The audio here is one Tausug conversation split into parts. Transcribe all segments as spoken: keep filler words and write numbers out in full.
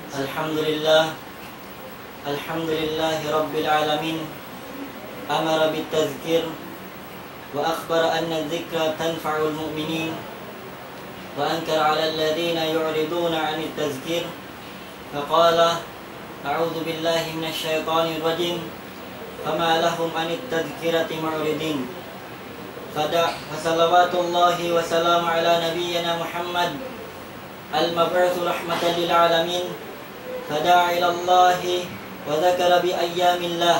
الحمد لله. الحمد لله رب العالمين. أمر بالتذكير وأخبر أن الذكرى تنفع المؤمنين، وأنكر على الذين يعرضون عن التذكير فقال: أعوذ بالله من الشيطان الرجيم. فما لهم عن التذكرة معرضين. فدع-، فصلوات الله وسلامه على نبينا محمد المبعوث رحمة للعالمين، فدعا إلى الله وذكر بأيام الله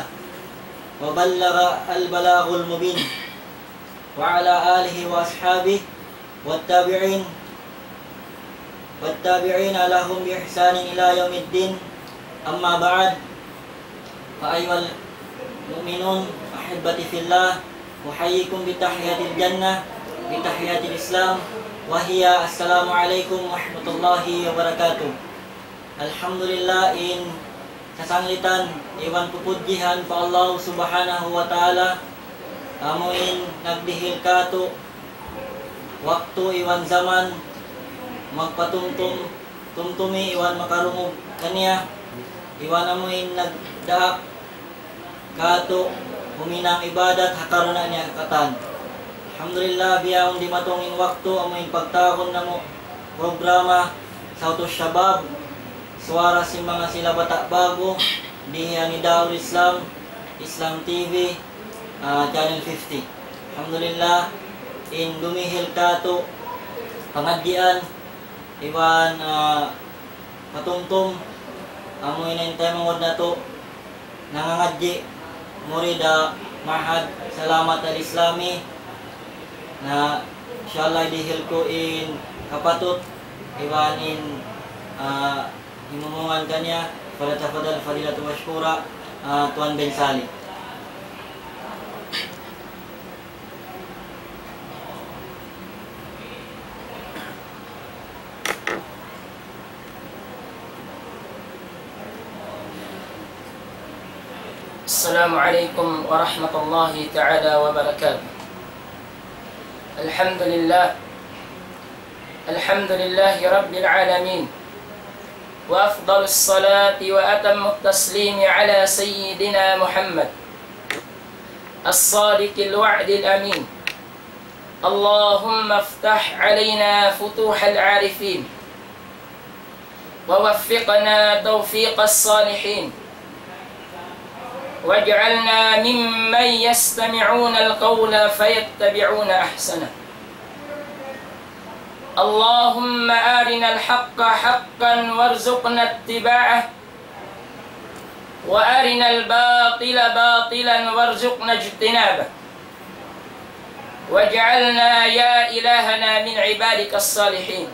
وبلغ البلاغ المبين، وعلى آله وأصحابه والتابعين، والتابعين لهم بإحسان إلى يوم الدين. أما بعد، فأيها المؤمنون أحبتي في الله، أحييكم بتحية الجنة، بتحية الإسلام، وهي السلام عليكم ورحمة الله وبركاته. Alhamdulillah, in kasanglitan iban pupudjihan pa Allah Subhanahu wa Ta'ala, amu in nagdihil kātu' waktu iban jaman magpatumtum, tumtumi iban makarungug kaniya, iban amu in nagdaak kātu' huminang ibadat ha karna' niya katan. Alhamdulillah, bihaun dimatung in waktu amu in pagtawagun namu' programa Sawtu Shabab, suwara sin manga sila bata' ba'gu, dī ha Nidaul Islam, Islam T V, ah, Channel fifty. Alhamdulillah, in dumihil kātu' pangadjian, iban, ah, patumtum, amu in in taymanghud natu', nangangadji', murid ha Ma'had Salamat Al-Islami, na insha Allah dihil ku in kapatut, iban in, ah, himumungan kaniya, فليتفضل فضيلته مشكورا, ah, Tuan Ben Sali. السلام عليكم ورحمة الله تعالى وبركاته. الحمد لله. الحمد لله رب العالمين. وأفضل الصلاة وأتم التسليم على سيدنا محمد الصادق الوعد الأمين. اللهم افتح علينا فتوح العارفين، ووفقنا توفيق الصالحين، واجعلنا ممن يستمعون القول فيتبعون أحسنه. اللهم أرنا الحق حقا وارزقنا اتباعه، وأرنا الباطل باطلا وارزقنا اجتنابه، واجعلنا يا إلهنا من عبادك الصالحين.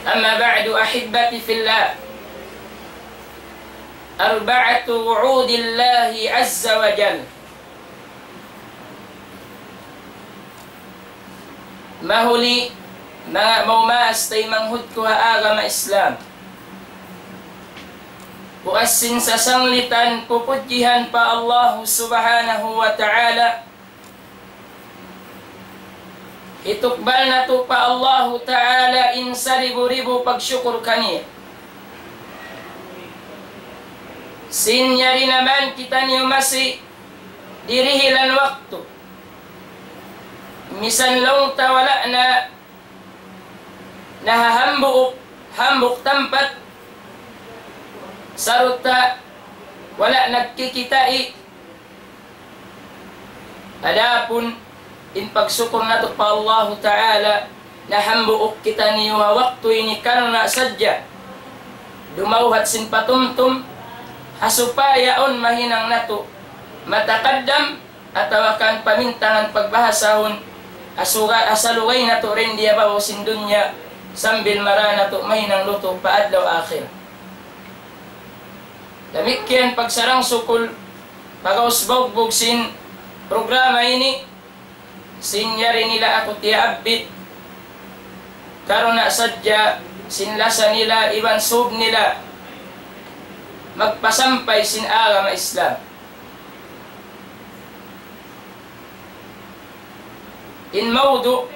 أما بعد، أحبتي في الله، أربعة وعود الله عز وجل. Mahuli, manga maumaas taymanghud ku ha agama Islam. Puas sin sasanglitan pupudjihan pa Allahu Subhanahu wa Ta'ala. Hitukbal natu' pa Allahu Ta'ala in saribu-ribu pagsukur kaniya. Sin yari na man kitaniyu masi dirihilan waktu. Misan laung ta wala' na nahahambuuk, hambuuk tampat, sarta' wala' nagkikita'. Adapun in pagsukur natu' pa Allahu Ta'ala, nahambuuk kitaniyu ha waktu ini karna' sadja dumawhat sin patumtum, ha supaya awn mahinang natu' matakaddam, atawa kan pamintangan pagbahasahun, asuga-, asalugay natu' dayn di ha babaw sin dunya, sambil mara natu' mahinang lutu' pa adlaw akhirat. Damikkiyan pagsarang-sukul, pag'ubus baugbug sin programa ini, sin yari nila aku tiyaabbit, karna' sadja sin lasa nila iban sūb nila magpasampay sin agama Islam. In mawdu',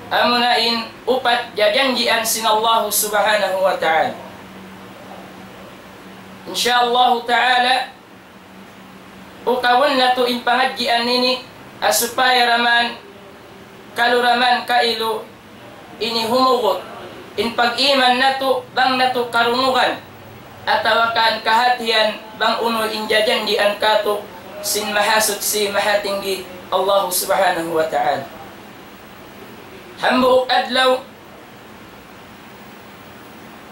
Amuna in upat jajanjian sin Allahu Subhanahu wa Ta'ala. Insya Allahu Ta'ala, ukabun natu' in pangadjian ini, ha supaya da man, kalu da man kailu ini humugut in pag-iman natu', bang natu' karungugan, atawa kan kahatihan, bang unu in jajanjian katu' sin Mahasuchi Mahatinggi Allahu Subhanahu wa Ta'ala. Hambuuk adlaw,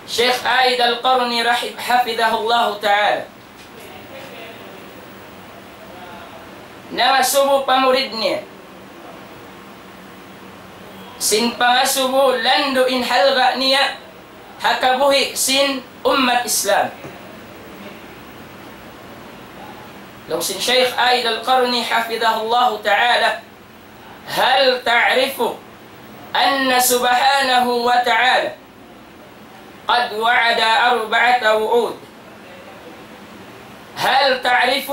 Sheikh Aid Al-Qarni rahim-, hafidhahullahu ta'ala, nangasubu pa murid niya sin pangasubu landu' in halga' niya ha kabuhi' sin ummat Islam. Laung sin Sheikh Aid Al-Qarni hafidhahullahu ta'ala, هل تعرف أن سبحانه وتعالى قد وعد أربعة وعود؟ هل تعرف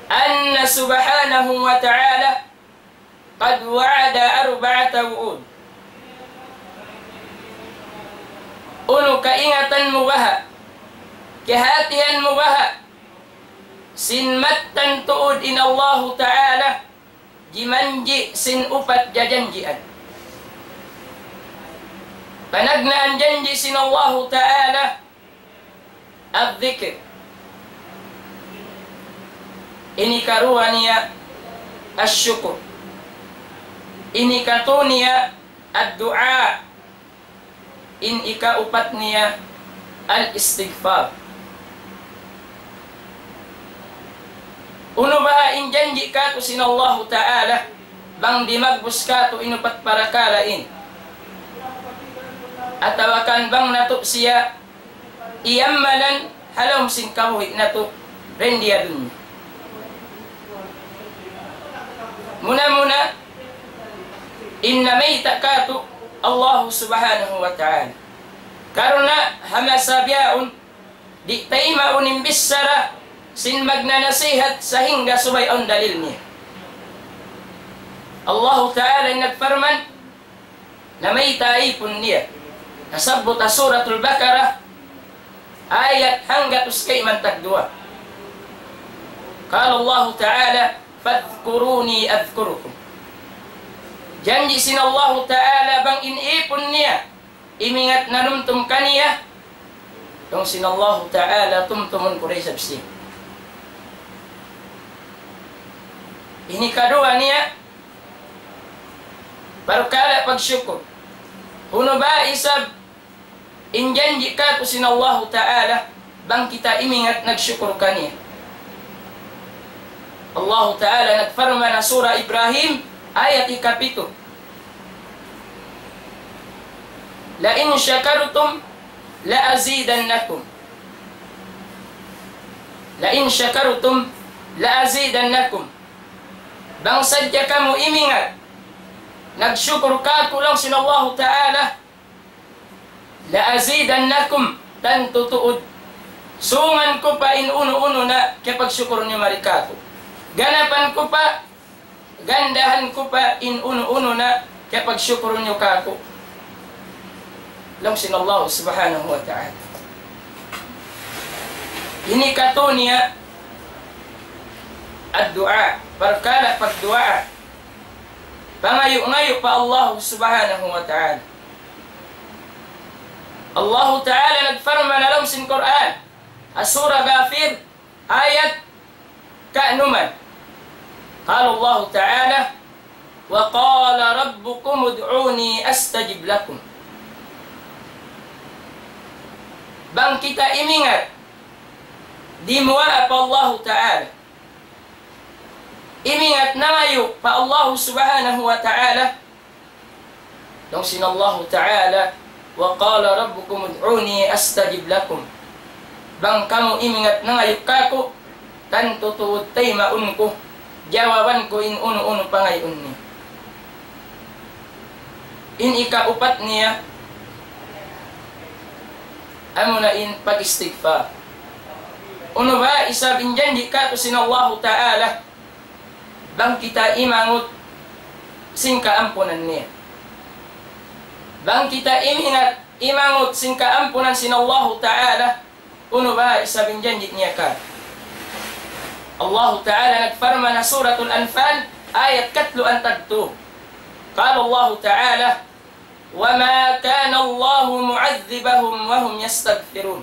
أن سبحانه وتعالى قد وعد أربعة وعود؟ Unu kaingatan mu baha', kahatihan mu baha', sin mattan tuud in Allahu Ta'ala jimanji' sin upat jajanjian. Panagnaan janji' sin Allahu Ta'ala, الذكر. In hikaruwa niya, الشكر. In hikatu niya, الدعاء. In hikaupat niya, الاستغفار. Unu baha' in janji' katu' sin Allahu Ta'ala, bang di' magbus katu' in upat parakala' ini? Atawa kan bang natu' siya iyamalan ha lawm sin kabuhi' natu' dayn di ha dunya. Muna-muna, in namayta' katu' Allahu Subhanahu wa Ta'ala. Karna' ha masa bihaun, di' taymaun in bichara sin magnanasihat sahingga subay awn dalil niya. Allahu Ta'ala in nagparman, namayta' ipun niya. Nasabbut ha Suratul Baqarah, ayat hanggatus kayman tagduwa. قال الله تعالى: فاذكروني أذكركم. Janji' sin Allahu Ta'ala bang in ipun niya imingat nanumtum kaniya, laung sin Allahu Ta'ala, tumtumun ku da isab siya. Ini kaduwa niya, parkala' pagsukur. Unu ba isab in janji' katu' sin Allahu Ta'ala, bang kita imingat nagsukur kaniya? Allahu Ta'ala nagparman ha Surah Ibrahim, ayat hikapitu, لئن شكرتم لأزيدنكم. لئن شكرتم لأزيدنكم. Bang sadja kamu imingat nagsukur kāku', laung sin Allahu Ta'ala, لأزيدنكم, tantu tuud sungan ku pa in unu-unu na kiyapagsukur niyu mari kāku'. Ganapan ku pa, gandahan ku pa in unu-unu na kiyapagsukur niyu kāku', laung sin Allah Subhanahu wa Ta'ala. Ini katu' niya ad-du'a, parkala' pagduwaa. Pangayu'-ngayu' pa Allah Subhanahu wa Ta'ala. Allahu Ta'ala nagparman ha lawm sin Qur'an, ha Surah Ghafir, ayat kanuman. قال الله تعالى: وقال ربكم ادعوني أستجب لكم. Bang kita imingat dimuwaa pa Allahu Ta'ala, imingat nangayu' pa Allahu Subhanahu wa Ta'ala, laung sin Allahu Ta'ala, وقال ربكم ادعوني أستجب لكم. Bang kamu imingat nangayu' kāku', tantu tuud taymaun ku, jawaban ku in unu-unu pangayuun niyu. In hikaupat niya, amuna in pag-istighfar. Unu ba isab in janji' katu' sin Allahu Ta'ala, bang kita imangut sin kaampunan niya? Bang kita imingat, imangut sin kaampunan sin Allahu Ta'ala, unu ba isab in janji' niya kātu'? Allahu Ta'ala nagparman ha Suratul Anfal, ayat katluan tagtū. قال الله تعالى: وما كان الله معذبهم وهم يستغفرون.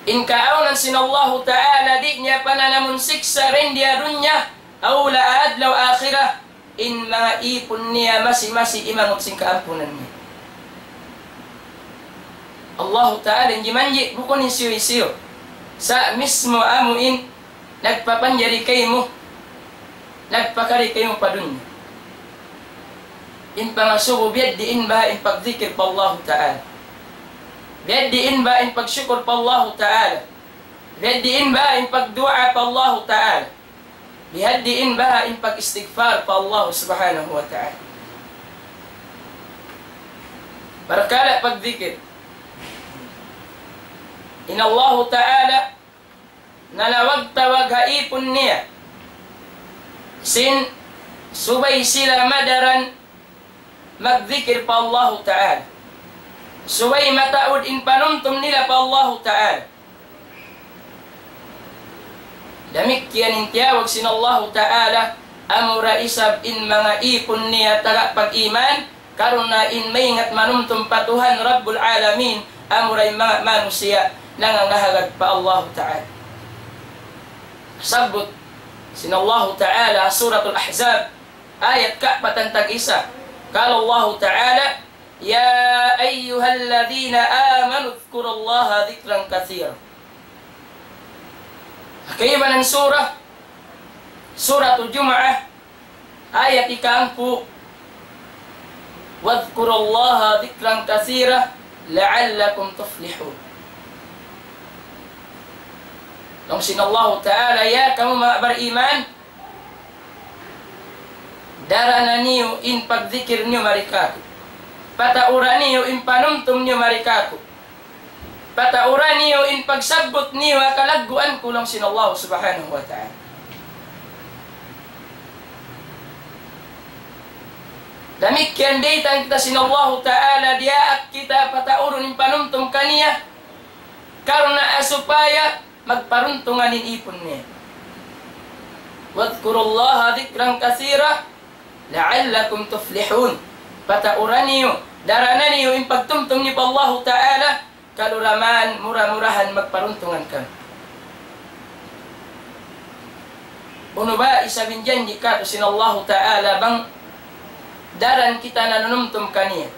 In kaawnan sin Allahu Ta'ala, di' niya pananamun siksa' dayn di ha dunya, aw la adlaw akhirah, in manga īpun niya masi-masi imangut sin kaampunan niya. Allahu Ta'ala in jimanji', bukun in hisiyu-hisiyu. Sa' mismu amu in nagpapanjari kaymu, nagpakari kaymu pa dunya. In pangasubu biya' diin baha' in pagdikir pa Allahu Ta'ala. Biya' diin baha' in pagsukur pa Allahu Ta'ala. Biya' diin baha' in pagduwaa pa Allahu Ta'ala. Biya' diin baha' in pag-istighfar pa Allah Subhanahu wa Ta'ala. Parkala' pagdikir. In Allahu Ta'ala nanawag-tawag ha īpun niya sin subay sila madaran magdikir pa Allahu Ta'ala. Subay mataud in panumtum nila pa Allahu Ta'ala. Damikkiyan in tiyawag sin Allahu Ta'ala, amura isab in manga īpun niya taga pag-iman, karna' in maingat manumtum pa Tuhan Rabbul Alamin, amura in manga manusiya' nangangahagad pa Allahu Ta'ala. Sabbut sin Allahu Ta'ala, Suratul Ahzab, ayat kaapatan tag-isa. قال الله تعالى: يا أيها الذين آمنوا اذكروا الله ذكرا كثيرا. Kaibanan surah, Suratul Jumu'ah, ayat ikahangpu', واذكروا الله ذكرا كثيرا لعلكم تفلحون. Laung sin Allahu Ta'ala, ya kamu manga bariman, darana niyu in pagdikir niyu mari kāku'. Pataura niyu in panumtum niyu mari kāku'. Pataura niyu in pagsabbut niyu ha kalagguan ku, laung sin Allah Subhanahu wa Ta'ala. Damikkiyan daytan kita sin Allahu Ta'ala, diyaak kita pataurun in panumtum kaniya, karna' supaya magparuntungan in īpun niya. واذكروا الله ذكرا كثيرا لعلكم تفلحون. Pataura niyu, darana niyu in pagtumtum niyu pa Allahu Ta'ala, kalu da man mura-murahan magparuntungan kamu. Unu ba isab in janji' kātu' sin Allahu Ta'ala bang daran kita nanumtum kaniya?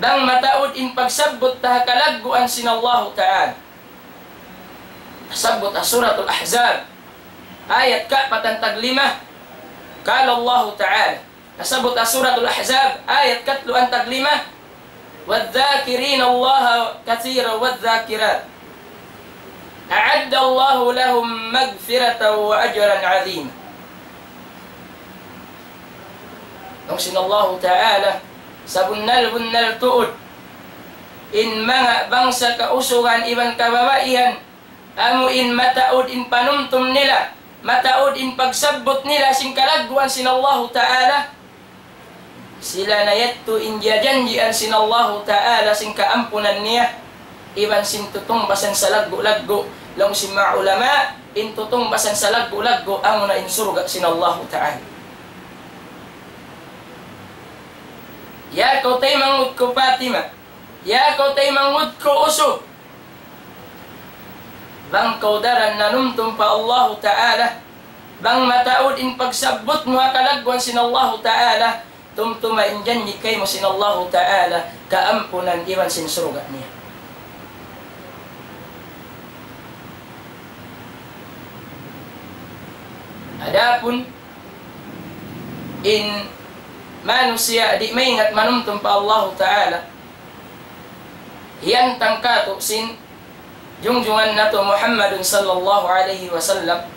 Bang mataud in pagsabbut ta ha kalagguan sin Allahu Ta'ala. Sabbut ha Suratul Ahzab, ayat kaapatan tag lima. قال الله تعالى, sabbut ha Suratul Ahzab, ayat katluan tag lima. والذاكرين الله كثيرا والذاكرات أعد الله لهم مغفرة وأجرا عظيما. Laung sin Allahu Ta'ala, sabunnal-bunnal tuud in manga bangsa kausugan iban kababaihan, amu in mataud in panumtum nila, mataud in pagsabbut nila sin kalagguan sin Allahu Ta'ala, sila na yadtu in jiyajanjian sin Allahu Ta'ala sin kaampunan niya, iban sin tutungbasan salaggu'-laggu'. Laung sin manga ulama, in tutungbasan salaggu'-laggu' amuna in surga' sin Allahu Ta'ala. Ya kaw taymanghud ku Fatima, ya kaw taymanghud ku usug, bang kaw daran nanumtum pa Allahu Ta'ala, bang mataud in pagsabbut mu ha kalagguan sin Allahu Ta'ala, tumtuma in janji' kaymu sin Allahu Ta'ala, kaampunan iban sin surga' niya. Adapun in manusiya' di' maingat manumtum pa Allahu Ta'ala, hiyantang kātu' sin jungjungan natu' Muhammadun sallallahu alayhi wasallam,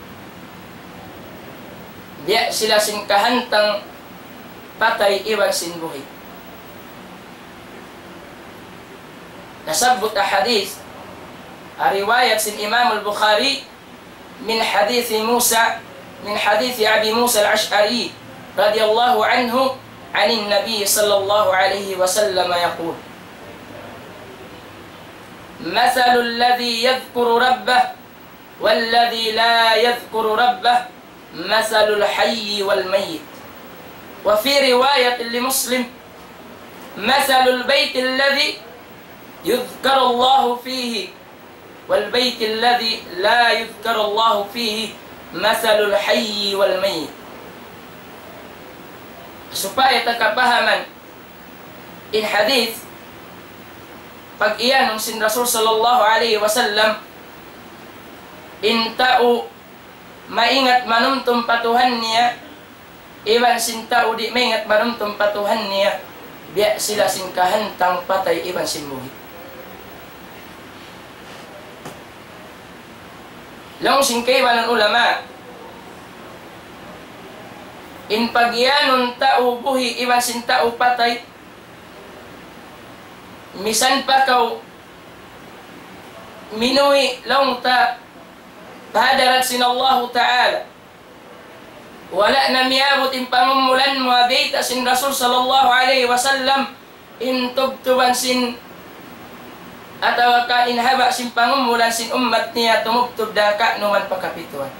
biya' sila sin kahantang patay iban sin buhi'. Nasabbut ha hadith, ha riwayat sin Imam al-Bukhari, من حديث موسى، من حديث أبي موسى الأشعري، رضي الله عنه عن النبي صلى الله عليه وسلم يقول: مثل الذي يذكر ربه والذي لا يذكر ربه مثل الحي والميت. وفي رواية لمسلم: مثل البيت الذي يذكر الله فيه والبيت الذي لا يذكر الله فيه مثل الحي والميت. Supaya ta kapahaman in hadith, pag-iyanun sin Rasul sallallahu alayhi wasallam, in tau maingat manumtum pa Tuhan niya, iban sin tau di' maingat manumtum pa Tuhan niya, biya' sila sin kahantang patay iban sin buhi'. Laung sin kaibanan ulama, in pag-iyanun tau buhi' iban sin tau patay, misan pa kaw minuwi' laung ta pa hadarat sin Allahu Ta'ala, wala' na miyabut in pangumulan mu, bayta' sin Rasul sallallahu alayhi wasallam, in tubtuban sin, atawa kan in haba' sin pangumulan sin ummat niya tumubtub da ka'numan pa kapituan.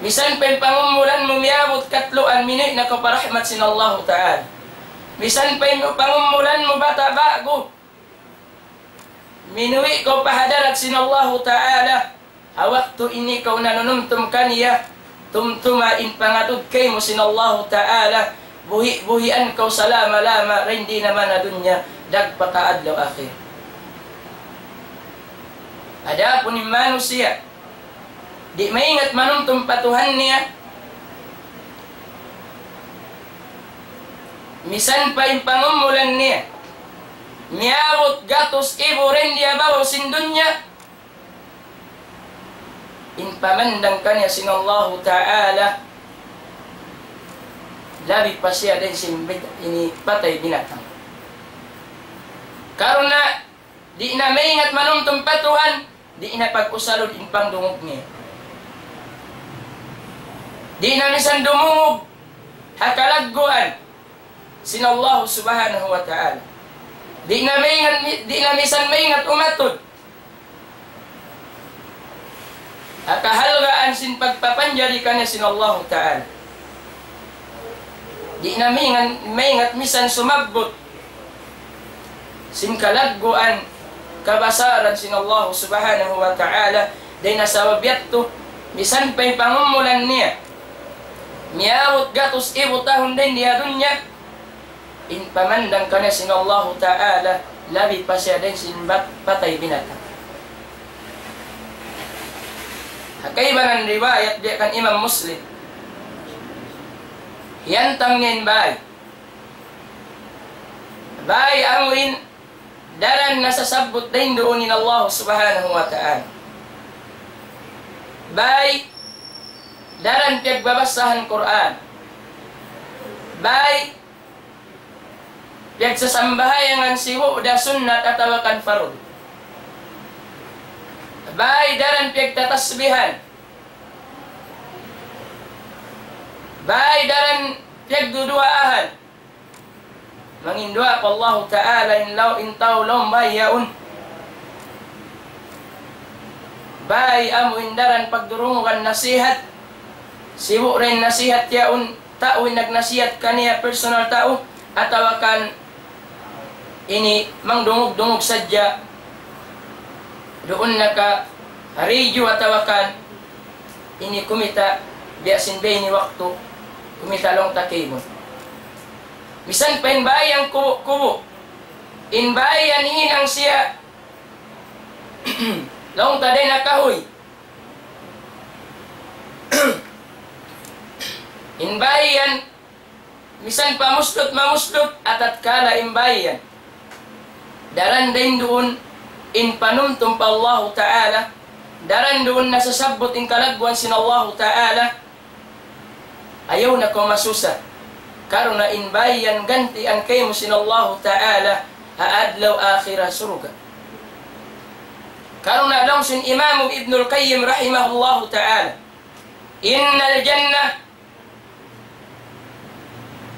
Misan pa in pangumulan mu miyabut katluan, minuwi' na kaw pa rahmat sin Allahu Ta'ala. Misan pa in pangumulan mu bata' ba'gu, minuwi' kaw pa hadarat sin Allahu Ta'ala, ha waktu ini kaw nanunumtum kaniya, tumtuma in pangatud kaymu sin Allahu Ta'ala, buhi'-buhian kaw salama-lama, dayn di naman ha dunya, dagpak ha adlaw akhirat. Adapun in manusiya', di' maingat manumtum pa Tuhan niya, misan pa in pangumulan niya miyabut gatus ibu dayn di ha babaw sin dunya, in pamandang kaniya sin Allahu Ta'ala, labi pa siya dayn sin bit-, ini patay binatang. Karna' di' na maingat manumtum pa Tuhan, di' na pag-usalun in pangdungug niya. Di' na misan dumungug ha kalagguan sin Allah Subhanahu wa Ta'ala. Di' na maingat, di' na misan maingat umatud ha kahalgaan sin pagpapanjari kaniya sin Allahu Ta'ala. Di' na maingat, maingat misan sumabbut sin kalagguan, kabasaran sin Allah Subhanahu wa Ta'ala. Dayn ha sabab yadtu, misan pa in pangumulan niya miyabut gatus ibu tahun dayn di ha dunya, in pamandang kaniya sin Allahu Ta'ala, labi pa siya dayn sin bat-, patay binatang. Ha kaibanan riwayat biya' kan Imam Muslim, hiyantang niya in bāy. Bāy amu in daran nasasabbut dayn duun in Allah Subhanahu wa Ta'ala. Bāy daran piyagbabasahan Qur'an. Bāy piyagsasambahayangan sibu' da sunnat atawa kan fardu. Bāy daran piyagtatasbihan. Bāy daran piyagduduwaahan. Manginduwaa pa Allahu Ta'ala in law, in tau lawm bāy yaun. Bāy amu in daran pagdurungugan nasihat. Sibu' da in nasihat yaun, tau in nagnasihat kaniya, personal tau, atawa kan ini mangdungug-dungug sadja duun na ka radio atawa kan ini kumita' biya' sin bāy ini waktu kumita' laung ta kaymu. Misan pa in bāy yan kubu'-kubu', in bāy yan hinang siya laung ta dayn ha kahuy. In bāy yan, misan pa muslut-mamuslut, atatkala in bāy yan daran dayn duun in panumtum pa Allahu Ta'ala, daran duun nasasabbut in kalagguan sin Allahu Ta'ala, ayaw na kaw masusa. Karna' in bāy yan gantian kaymu sin Allahu Ta'ala ha adlaw akhirat surga'. Karna' laung sin Imam Ibnul Qayyim rahimahullahu ta'ala, إن الجنة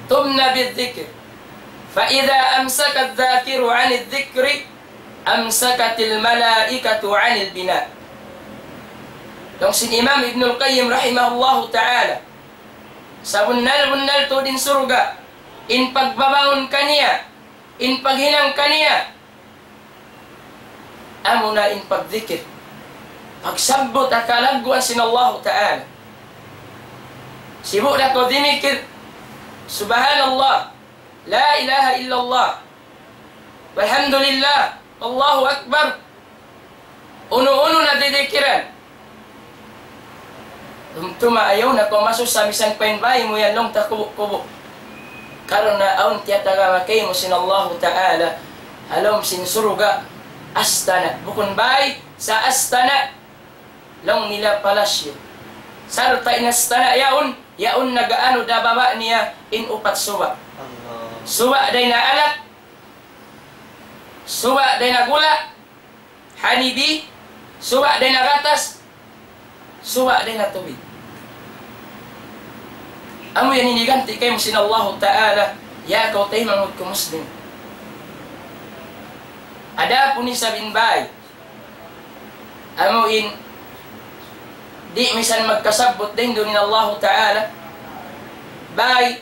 تبنى بالذكر، فإذا أمسك الذاكر عن الذكر أمسكت الملائكة عن البناء. Laung sin Imam Ibnul Qayyim rahimahullahu ta'ala, sabunnal-bunnal tuud in surga', in pagbabangun kaniya, in paghinang kaniya, amuna in pagdikir. Pagsabbut ha kalagguan sin Allahu Ta'ala. Sibu' da kaw dimikir, Subhanallah, La ilaha illallah, Walhamdulillah, Allahu Akbar. Unu-unu na didikiran. Tumtuma ayaw na kaw masusa misan pa in bāy mu yan laung ta kubu'-kubu'. Karna' awn tiyatagama kaymu sin Allahu Ta'ala ha lawm sin surga', astana'. Bukun bāy, sa' astana'. Laung nila palasyo. Sarta' in astana' yaun, yaun nag-aanu da baba' niya in upat suba'. Suba' dayn ha alak, suba' dayn ha gula', honey bee, suba' dayn ha gatas, suba' dayn ha tubig. Amu yan in higanti kaymu sin Allahu Ta'ala, ya kaw taymanghud ku Muslim. Adapun isab in bāy, amu in di' misan magkasabbut dayn duun in Allahu Ta'ala, bāy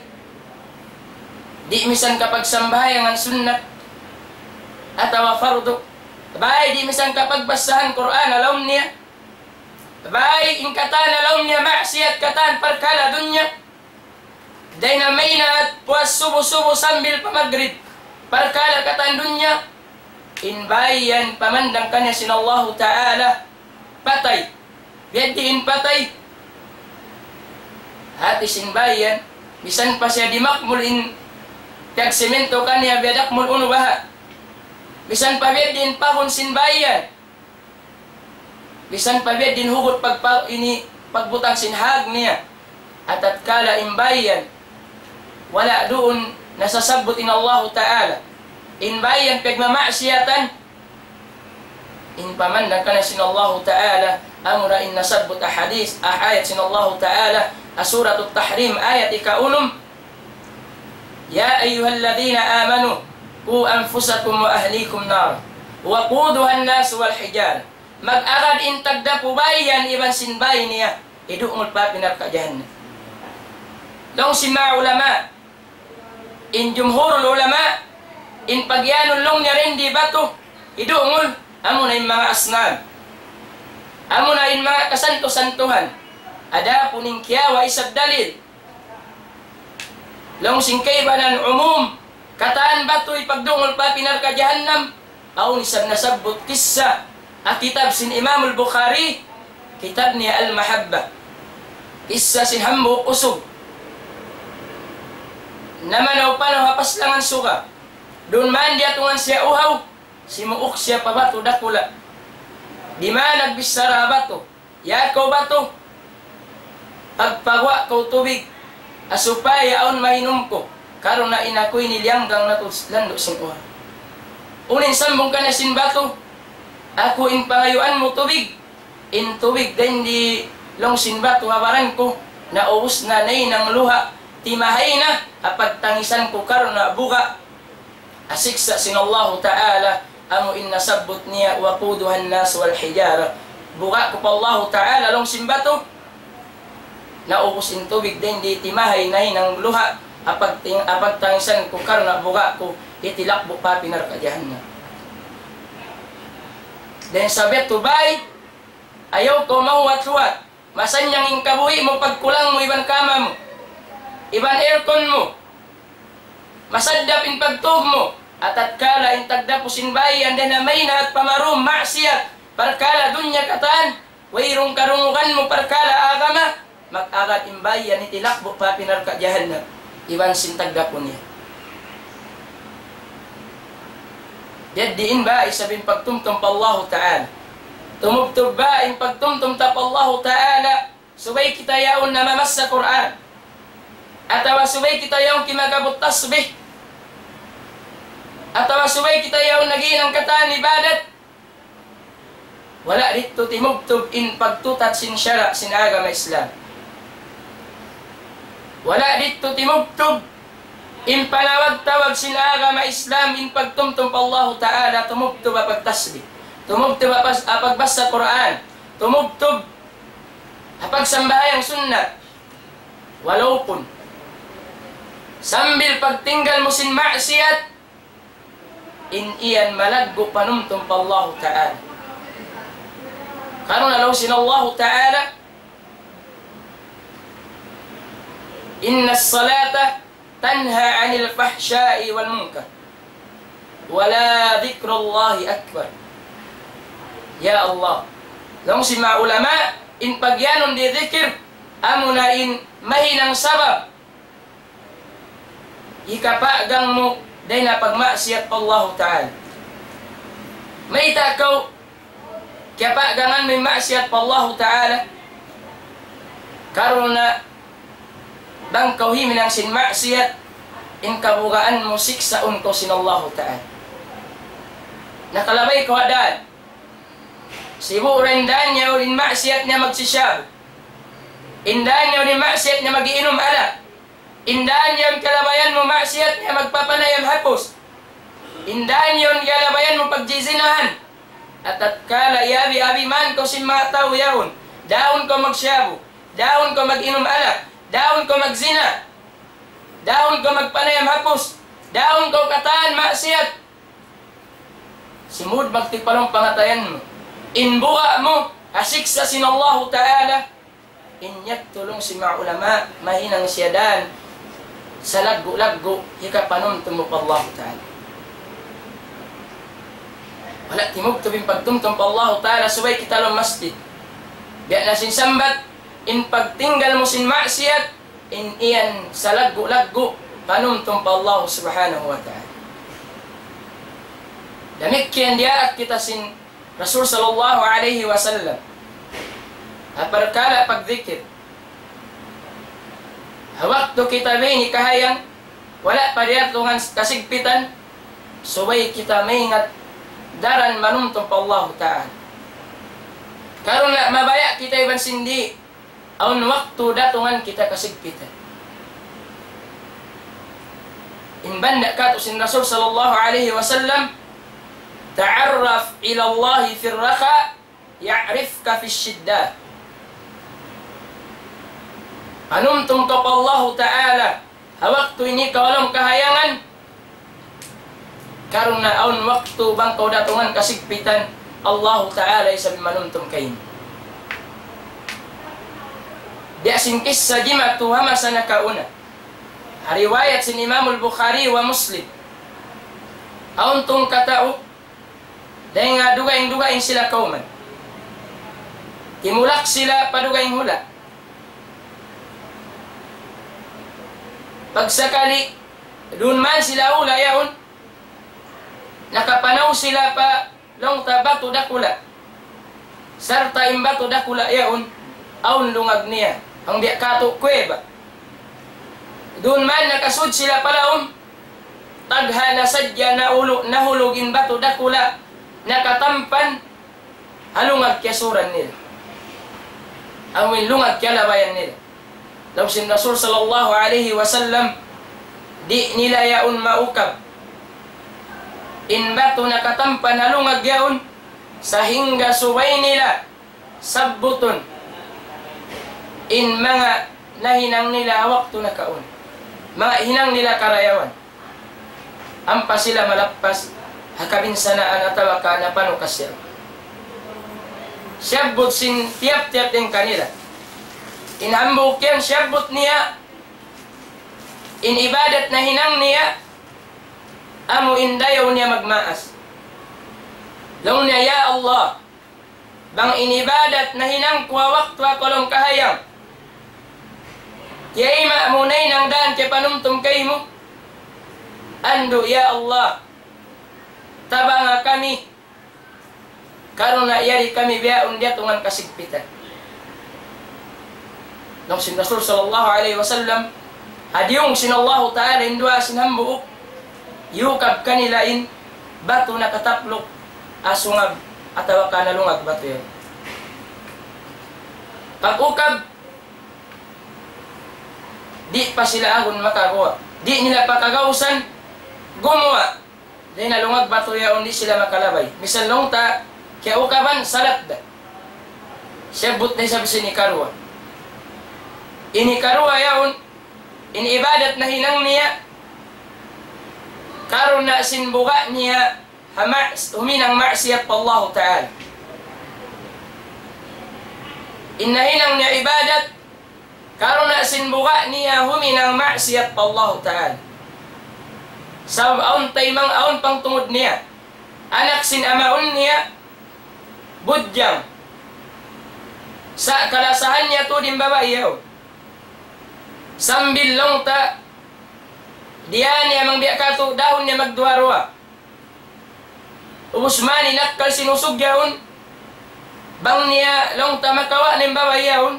di' misan kapagsambahayangan sunnat atawa fardu, bāy di' misan kapagbassahan Qur'an ha lawm niya, bāy in katan ha lawm niya maksiyat katan parkala' dunya, dayn ha maynaat puas subu-subu sambil pa magrib, parkala' katan dunya, in bāy yan pamandang kaniya sin Allahu Ta'ala, patay. Biya' diin in patay? Hāti sin bāy yan, misan pa siya dimakmul in piyagsimintu kaniya biya' dakmul unu baha'. Misan pa biya' diin in pahun sin bāy yan. Misan pa biya' diin in hugut pagpa-, ini pagbutang sin hāg niya. Atatkala in bāy yan, wala' duun nasasabbut in Allahu Ta'ala. In bāy yan piyagmamaksiyatan, in pamandang kaniya sin Allahu Ta'ala, amura in nasabbut ha hadith, ha ayat sin Allahu Ta'ala, ha Suratut Tahrim, ayat ika-unum, يا أيها الذين آمنوا قوا أنفسكم وأهليكم نارا وقودها الناس والحجارة. Mag-agad in tagdapu bāy yan iban sin bāy niya, hidungul pa api narka' jahannam. Laung sin manga ulama, in jumhurul ulama, in pagiyanun laung niya dindi batu, hidungul, amuna in manga asnam. Amuna in manga kasantu-santuhan. Adapun in kiyawa' isab dalil, laung sin kaibanan umum, katan batu hipagdungul pa api narka' jahannam, awn isab nasabbut kissa ha kitab sin Imamul Bukhari, kitab niya Al-Mahabbah. Kissa sin hambuuk usug. Namanaw-panaw ha paslangan suga. Duun man diyatungan siya uhaw, simuuk siya pa batu dakula'. Di' man nagbichara ha batu, "Ya kaw batu, pagpaguwa' kaw tubig, ha supaya awn mainum ku, karna' in aku ini liyanggang na tuud landu' sin uhaw." Unu in sambung kaniya sin batu, "Aku in pangayuan mu tubig, in tubig dindi laung sin batu ha baran ku, naubus na nahinang luha', timahay na ha pagtangisan ku karna' buga'." Ha siksa' sin Allahu Ta'ala, amu in nasabbut niya, وقودها الناس والحجارة. Buga' ku pa Allahu Ta'ala laung sin batu, naubus in tubig dindi timahay nahinang luha', ha pagting-, ha pagtangisan ku karna' buga' ku, hitilakbu' pa api narka' jahannam. Dayn sabab tu bāy, ayaw kaw mahuwat-huwat. Masannyang in kabuhi' mu, pagkulang mu iban kama mu, iban aircon mu. Masaddap in pagtūg mu. Atatkala in tagdapu sin bāy yan dayn ha maynaat pamarum maksiyat, parkala' dunya katan, wayruun karungugan mu parkala' agama, mag-agad in bāy yan hitilakbu' pa api narka' jahannam iban sin tagdapu niya. Biya' diin ba isab in pagtumtum pa Allahu Ta'ala? Tumubtub ba in pagtumtum ta pa Allahu Ta'ala subay kita yaun namamassa Qur'an? Atawa subay kita yaun kimagabut tasbih? Atawa subay kita yaun naghinang katan ibadat? Wala' didtu timubtub in pagtutat sin sara' sin agama Islam. Wala' didtu timubtub in panawag-tawag sin agama Islam in pagtumtum pa Allahu Ta'ala, tumubtub ha pagtasbih, tumubtub ha pas-, ha pagbasa Qur'an, tumubtub ha pagsambahayang sunnat. Walaupun sambil pagtinggal mu sin maksiyat, in yan malaggu' panumtum pa Allahu Ta'ala. Karna' laung sin Allahu Ta'ala, إن الصلاة تنهى عن الفحشاء والمنكر ولذكر الله أكبر. Ya Allah, laung sin manga ulama, in pagiyanun di' dhikir, amuna in mahinang sabab hikapagang mu dayn ha pagmaksiyat pa Allahu Ta'ala. Mayta' kaw kiyapagangan mu in maksiyat pa Allahu Ta'ala? Karna' bang kaw himinang sin maksiyat, in kabugaan mu siksaun kaw sin Allahu Ta'ala. Nakalabay kaw ha dān. Sibu' ra in dān niya in maksiyat niya magsisyabu. In dān niya in maksiyat niya mag-iinum alak. In dān niya in kalabayan mu maksiyat niya magpapanayam hapus. In dān niya in kalabayan mu pagjizinahan. Atatkala iyabi-abi man kaw sin manga tau yaun, daun kaw magsyabu, daun kaw mag-inum alak, daun kaw magzina, daun kaw magpanayam hapus, daun kaw katan maksiyat. Simud magtipalong pangatayan mu. In buga' mu ha siksa' sin Allahu Ta'ala. In yadtu laung sin manga ulama, mahinang siya dān salaggu'-laggu' hikapanumtum mu pa Allahu Ta'ala. Wala' timubtub in pagtumtum pa Allahu Ta'ala, subay kita lawm masjid. Biya' na sin sambat, in pagtinggal mu sin maksiyat, in yan salaggu'-laggu' panumtum pa Allahu Subhanahu wa Ta'ala. Damikkiyan diyaak kita sin Rasul sallallahu alayhi wasallam ha parkala' pagdikir. Ha waktu kita biyayni kahayang, wala' pa diyatungan kasigpitan, subay kita maingat daran manumtum pa Allahu Ta'ala. Karna' mabaya' kita iban sin di', awn waktu datungan kita kasigpitan. In banda' katu' sin Rasul sallallahu alayhi wasallam, تعرف إلى الله في الرخاء يعرفك في الشدة. Panumtum kaw pa Allahu Ta'ala ha waktu ini kaw ha lawm kahayangan, karna' awn waktu bang kaw datungan kasigpitan, Allahu Ta'ala isab in manumtum kaymu. Biya' sin kissa jimatu ha masa nakauna. Ha riwayat sin Imamul Bukhari wa Muslim. Awn tungka tau, dayn ha dugaing-dugaing sila kawman. Timulak sila pa dugaing hula'. Pagsakali, duun man sila hula' yaun, nakapanaw sila pa laung ta batu dakula'. Sarta' in batu dakula' yaun, awn lungag niya. Hangkan biya' katu' kuweba. Duun man nakasud sila pa lawm, tagha na sadja nahulu-, nahulug in batu dakula', nakatampan ha lungag kiyasuran nila. Amu in lungag kiyalabayan nila. Laung sin Rasul sallallahu alayhi wasallam, di' nila yaun maukab in batu nakatampan ha lungag yaun, sahingga subay nila sabbutun in manga nahinang nila ha waktu nakauna. Manga hinang nila karayawan. Ampa sila malappas ha kabinsanaan atawa ka napanukas siya. Siyabbut sin tiyap-tiyap dayn kanila. In hambuuk yan siyabbut niya, in ibadat nahinang niya, amu in dayaw niya magmaas. Laung niya, "Ya Allah, bang in ibadat nahinang ku ha waktu aku ha lawm kahayang, tiyayma' mu nahinang dān kiyapanumtum kaymu, andu', ya Allah, tabanga kami, karna' yari kami bihaun diyatungan kasigpitan." Laung sin Rasul sallallahu alayhi wasallam, ha diyung sin Allahu Ta'ala in duwaa sin hambuuk, iyukab kanila in batu nakatapluk ha sungab atawa ka nalungag batu yan. Pag-ukab, Di' pa sila agun makaguwa'. Di' nila pakagausan gumuwa'. Dayn ha lungag batu yaun di' sila makalabay. Misan laung ta, kiyaukaban salat da. Siyabbut na isab sin ikaruwa. In ikaruwa yaun, in ibadat nahinang niya, karna' sin buga' niya, ha ma's-, huminang maksiyat pa Allahu Ta'ala. In nahinang niya ibadat, karna' sin buga' niya huminang maksiyat pa Allahu Ta'ala. Sabab awn taymanghud, awn pangtungud niya. Anak sin amaun niya, budjang. Sa' kalasahan niya tuud in babai yaun. Sambil laung ta, diyā niya bang biya' katu', dahun niya magduwa-ruwa. Ubus man in akkal sin usug yaun, bang niya laung ta makawa' na in babai yaun,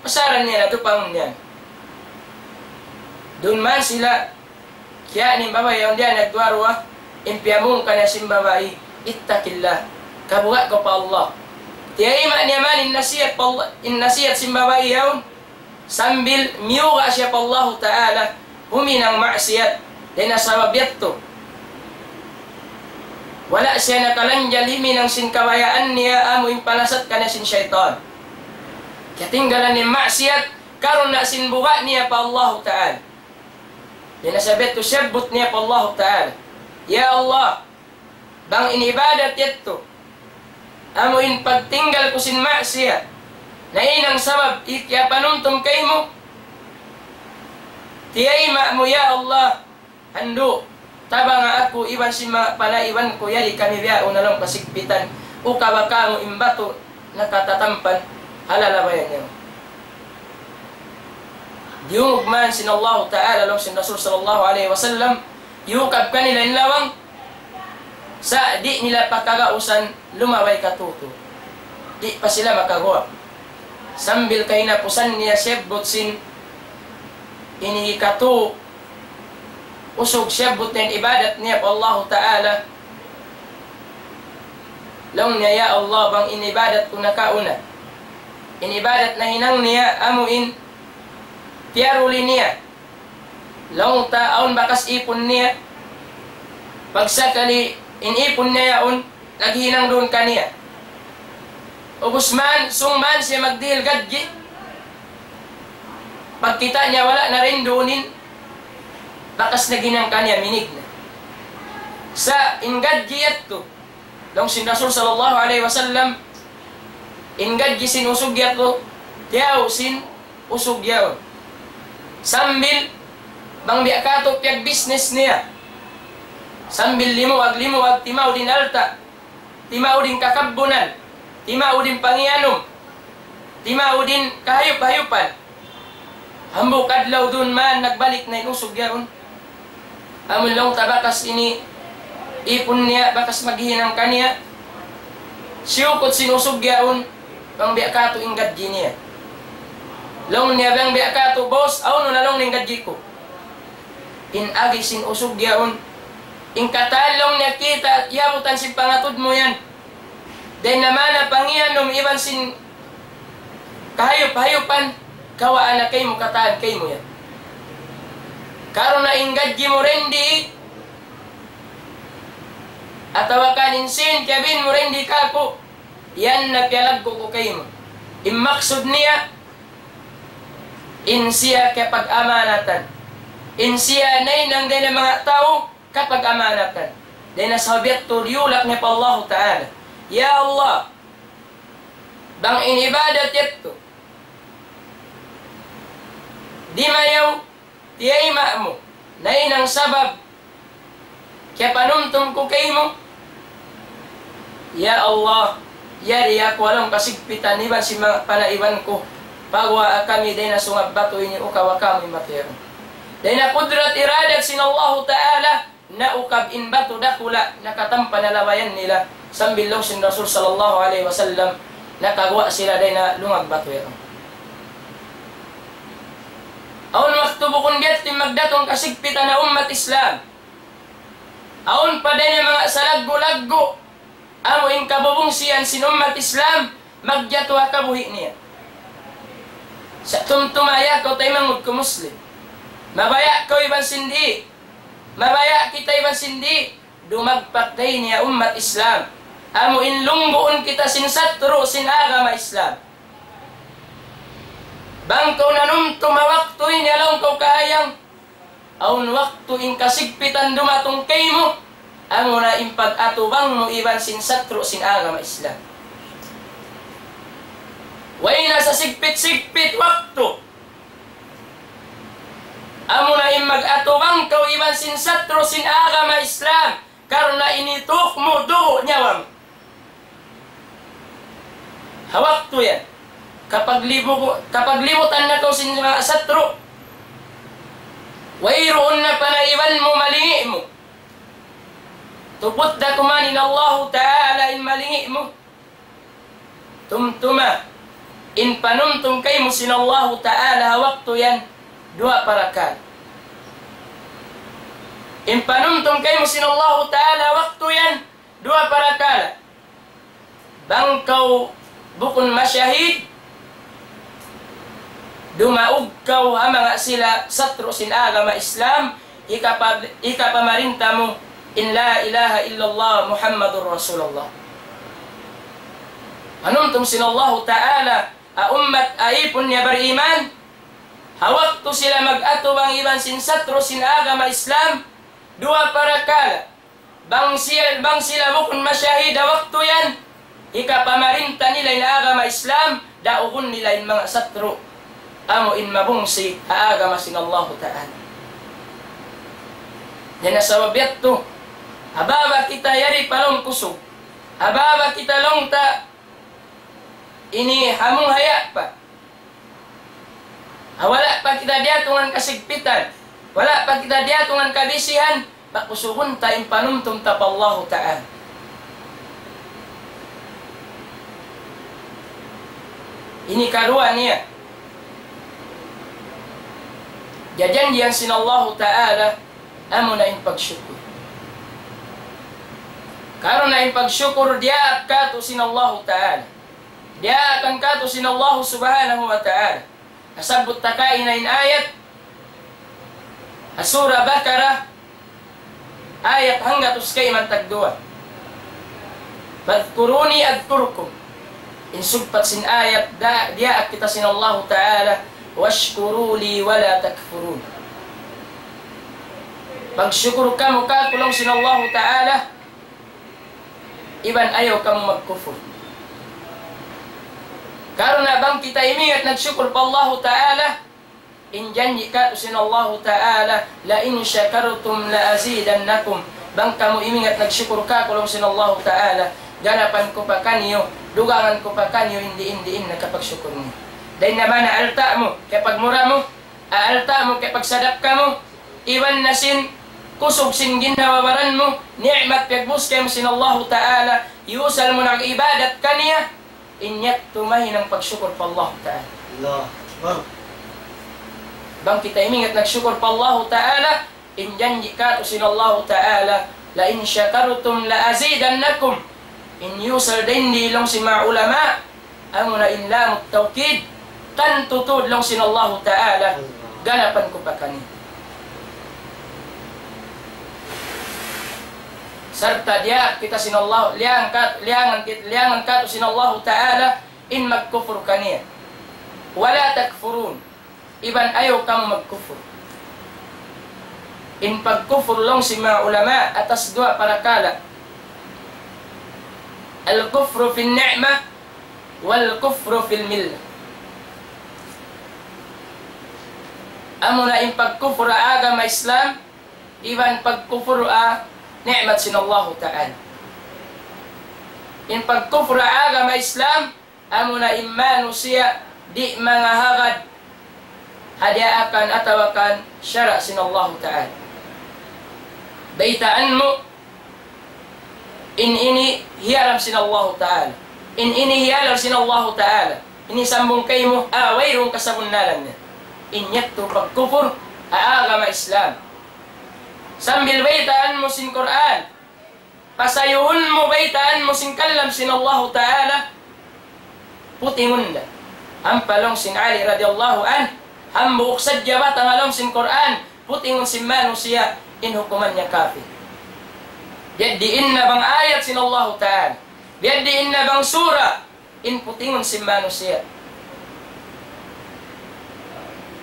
pasaran niya na tuud pa amun niya. Duun man sila, kiyā' na in babai yaun diyā nagduwa-ruwa, in piyamung kaniya sin babai, "Ittaqillah, kabuga' kaw pa Allah." Tiyayma' niya man in nasiyat pa Allah, in nasiyat sin babai yaun, sambil miyuga' siya pa Allahu Ta'ala, huminang maksiyat, dayn ha sabab yadtu. Wala' siya nakalanjal himinang sin kabayaan niya, amu in palasat kaniya sin saytan. Katinggalan niya maksiyat, karna' sin buga' niya pa Allahu Ta'ala. Dayn ha sabab yadtu siyabbut niya pa Allahu Ta'ala, "Ya Allah, bang in ibadat yadtu, amu in pagtinggal ku sin maksiyat, nahinang sabab hikiyapanumtum kaymu, tiyayma' mu, ya Allah, andu', tabanga aku iban sin manga panaiban ku, yari kami bihaun ha lawm kasigpitan, ukaba kamu in batu nakatatampan ha lalabayan niyu." Diyungug man sin Allahu Ta'ala, laung sin Rasul sallallahu alayhi wasallam, iyukab kanila in lawang, sa' di' nila pakagausan lumabay katutu. Di' pa sila makaguwa'. Sambil kahinapusan niya siyabbut sin ini katu' usug, siyabbut niya in ibadat niya pa Allahu Ta'ala. Laung niya, "Ya Allah, bang in ibadat ku nakauna, in ibadat nahinang niya, amu in piyaruli niya." Laung ta awn bakas ipun niya. Pagsakali in ipun niya yaun, naghinang duun kaniya. Ubus man, sung man siya magdihil gadji. Pagkita' niya wala' na duun in bakas naghinang kaniya, minig na. Sa' in gadji yadtu, laung sin Rasul sallallahu alayhi wasallam, in gadji sin usug yadtu, tiyaw sin usug yaun. Sambil bang biya' katu' piyagbisnis niya. Sambil limuag-limuag, timaud in alta', timaud in kakabbunan, timaud in pangiyanum, timaud in kahayup-hayupan. Hambuuk adlaw duun man nagbalik na in usug yaun. Amun laung ta bakas ini ipun niya, bakas maghinang kaniya. Siyukut sin usug yaun, bang biya' katu' in gadji niya. Laung niya bang biya' katu', "Boss, hawnu na laung in gadji ku?" In agi sin usug yaun, "In katan," laung niya, "kita', iyabutan sin pangatud mu yan. Dayn ha manga pangiyanum iban sin kahayup-hayupan, kawaa na kaymu, katan kaymu yan. Karna' in gadji mu dindi, atawa kan in sīn kiyabin mu dindi kāku', yan na piyalaggu' ku kaymu." In maksud niya, in siya kiyapag-amanatan. In siya nahinang dayn ha manga tau kapag-amanatan. Dayn ha sabab yadtu diyulak niya pa Allahu Ta'ala, "Ya Allah, bang in ibadat yadtu dimayaw, tiyayma' mu, nahinang sabab kiyapanumtum ku kaymu. Ya Allah, yari aku ha lawm kasigpitan iban sin manga panaiban ku. Paguwaa kami dayn ha sungab batu ini, ukawa kamu in batu yaun." Dayn ha kudrat iradat sin Allahu Ta'ala, naukab in batu dakula', nakatampan ha labayan nila, sambil laung sin Rasul sallallahu alayhi wasallam, nakaguwa' sila dayn ha lungag batu yaun. Awn waktu bukun biya' ha yan magdatung kasigpitan ha ummat Islam. Awn pa dayn ha manga salaggu'-laggu', amu in kabubungsihan sin ummat Islam, magjatu ha kabuhi' niya. Sa' tumtuma ya kaw taymanghud ku Muslim. Mabaya' kaw iban sin di'. Mabaya' kita iban sin di'. Dumagpak da ini ha ummat Islam. Amu in lungguun kita sin satru' sin agama Islam. Bang kaw nanumtum ha waktu ini, laung kaw kahayang, awn waktu in kasigpitan dumatung kaymu, amuna in pag-atubang mu iban sin satru' sin agama Islam. Way na sa sigpit-sigpit waktu. Amuna in mag-atubang kaw iban sin satru' sin agama Islam, karna' in ituk mu dugu' nyawa mu. Ha waktu yan, kapaglibu-, kapaglibutan na kaw sin manga satru', wayruun na panaiban mu, malingi' mu. Tuput da kuman in Allahu Ta'ala in malingi' mu. Tumtuma, in panumtum kaymu sin Allahu Ta'ala ha waktu yan, duwa parakala'. In panumtum kaymu sin Allahu Ta'ala ha waktu yan, duwa parakala'. Bang kaw bukun mashahid, dumaug kaw ha manga sila satru' sin agama Islam, hikapa-, hikapamarinta mu in la ilaha illallah Muhammadur Rasulullah. Panumtum sin Allahu Ta'ala, ha ummat, ha ipun niya bariman, ha waktu sila mag-atubang iban sin satru' sin agama Islam, duwa parakala'. Bang sila, bang sila bukun mashahid ha waktu yan, hikapamarinta nila in agama Islam, daugun nila in manga satru', amu in mabungsi ha agama sin Allahu Ta'ala. Yan na sabab yadtu, ababa kita yari pa laung kusug, ababa kita laung ta ini hamung haya' pa. Ha wala' pa kita diyatungan kasigpitan, wala' pa kita diyatungan kabisihan, pakusugun ta in panumtum ta pa Allahu Ta'ala. Ini karuwa niya. Jajanjian sin Allahu Ta'ala, amuna in pagsukur. Karna' in pagsukur diyaak katu' sin Allahu Ta'ala. Diyaakan katu' sin Allahu Subhanahu wa Ta'ala. Nasabbut ta kaina in ayat ha Surah Baqarah, ayat hanggatus kayman tagduwa. فاذكروني أذكركم. In sugpat sin ayat da, diyaak kita sin Allahu Ta'ala, واشكروا لي ولا تكفرون. Pagsukur kamu kāku' laung sin Allahu Ta'ala, iban ayaw kamu magkufur. Karna' bang kita imingat nagsukur pa Allahu Ta'ala, in janji' katu' sin Allahu Ta'ala, لئن شكرتم لأزيدنكم. Bang kamu imingat nagsukur kāku' laung sin Allahu Ta'ala, ganapan ku pa kaniyu, dugangan ku pa kaniyu in diin-diin na kapagsukur niyu. Dayn na mana alta' mu, kiyapagmura mu, alta' mu, kiyapagsadakka mu, iban na sin kusug sin ginhawa-baran mu, ni'mat piyagbus kaymu sin Allahu Ta'ala, iyusal mu nag-ibadat kaniya, in yadtu mahinang pagsukur pa Allahu Ta'ala. Allahu Akbar. Bang kita imingat nagsukur pa Allahu Ta'ala, in janji' katu' sin Allahu Ta'ala, لئن شكرتم لأزيدنكم. In iyusal dayn di laung sin manga ulama, amuna in lamut tawkid, tantu tuud laung sin Allahu Ta'ala, ganapan ku pa kaniyu. Sarta' diyaak kita sin Allah, liyangan kat-, liyangan kit-, liyangan katu' sin Allahu Ta'ala, in magkufur kaniya. ولا تكفرون. Iban ayaw kamu magkufur. In pagkufur laung sin manga ulama atas duwa parakala'. الكفر في النعمة والكفر في الملة. Amuna in pagkufur ha agama Islam, iban pagkufur ha ni'mat sin Allahu Ta'ala. In pagkufur ha agama Islam, amuna in manusiya' di' mangahagad ha diyaakan atawa kan sara' sin Allahu Ta'ala. Baytaan mu, in ini hiyaram sin Allahu Ta'ala. In ini hiyalal sin Allahu Ta'ala. Ini sambung kaymu, ah, wayruun kasabunnalan niya. In yadtu pagkufur ha agama Islam. Sambil baytaan mu sin Qur'an, pasayuhun mu, baytaan mu sin kalam sin Allahu Ta'ala, putingun da. Ampa laung sin Ali radiyallahu anhu, Hambuuk sadja batang ha lawm sin Qur'an, putingun sin manusiya', in hukuman niya kafir. Biya' diin na bang ayat sin Allahu Ta'ala, biya' diin na bang sura, in putingun sin manusiya',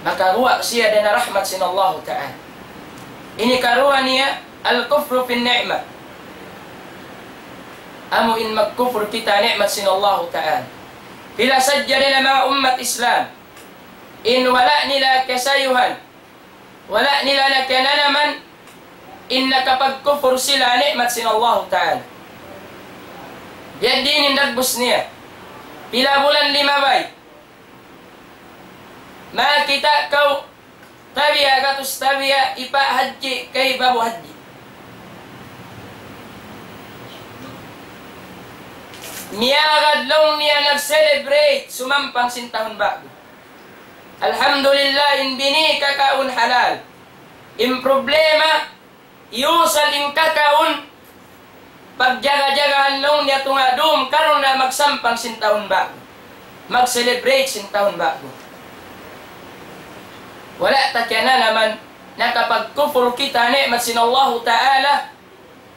makaguwa' siya dayn ha rahmat sin Allahu Ta'ala. Ini karuwa niya, الكفر بالنعمة. Amu in magkufur kita ni'mat sin Allahu Ta'ala. Pila sadja dayn ha manga ummat Islam in wala' nila kasayuhan, wala' nila na kiyananaman, in nakapagkufur sila ni'mat sin Allahu Ta'ala. Biya' diin in dagbus niya. Pila bulan limabay, makakita' kaw tabiya' gatus tabiya' ipa hadji kay babu hadji. Miyagad laung niya nag-celebrate sumampang sin tahun ba'gu. Alhamdulillah, in bini kakaun halal. In problema, iyusal in kakaun, pagjaga-jagahan laung niya tunga' dum karna' magsampang sin tahun ba'gu, mag-celebrate sin tahun ba'gu. Wala' ta kiyananaman, nakapagkufur kita ni'mat sin Allahu Ta'ala,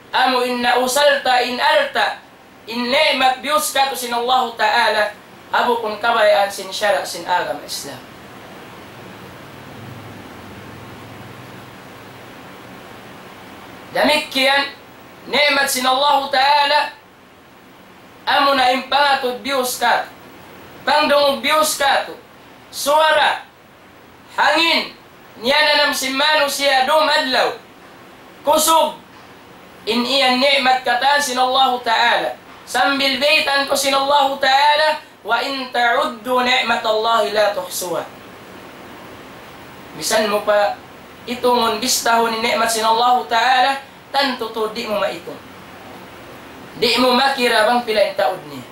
amu in nausal ta in alta', in ni'mat biyus katu' sin Allahu Ta'ala, ha bukun kabayaan sin sara' sin agama Islam. Damikkiyan, ni'mat sin Allahu Ta'ala, amuna in pangatud biyus katu', pangdungug biyus katu', suwara, hangin, niyananam sin manusiya' dum adlaw, kusug, in yan ni'mat katan sin Allahu Ta'ala. Sambil baytaan kaw sin Allahu Ta'ala, وإن تعدوا نعمة الله لا تحصوها. Misan mu pa itungun, bistahun in ni'mat sin Allahu Ta'ala, tantu tuud di' mu maitung. Di' mu makira bang pila in taud niya.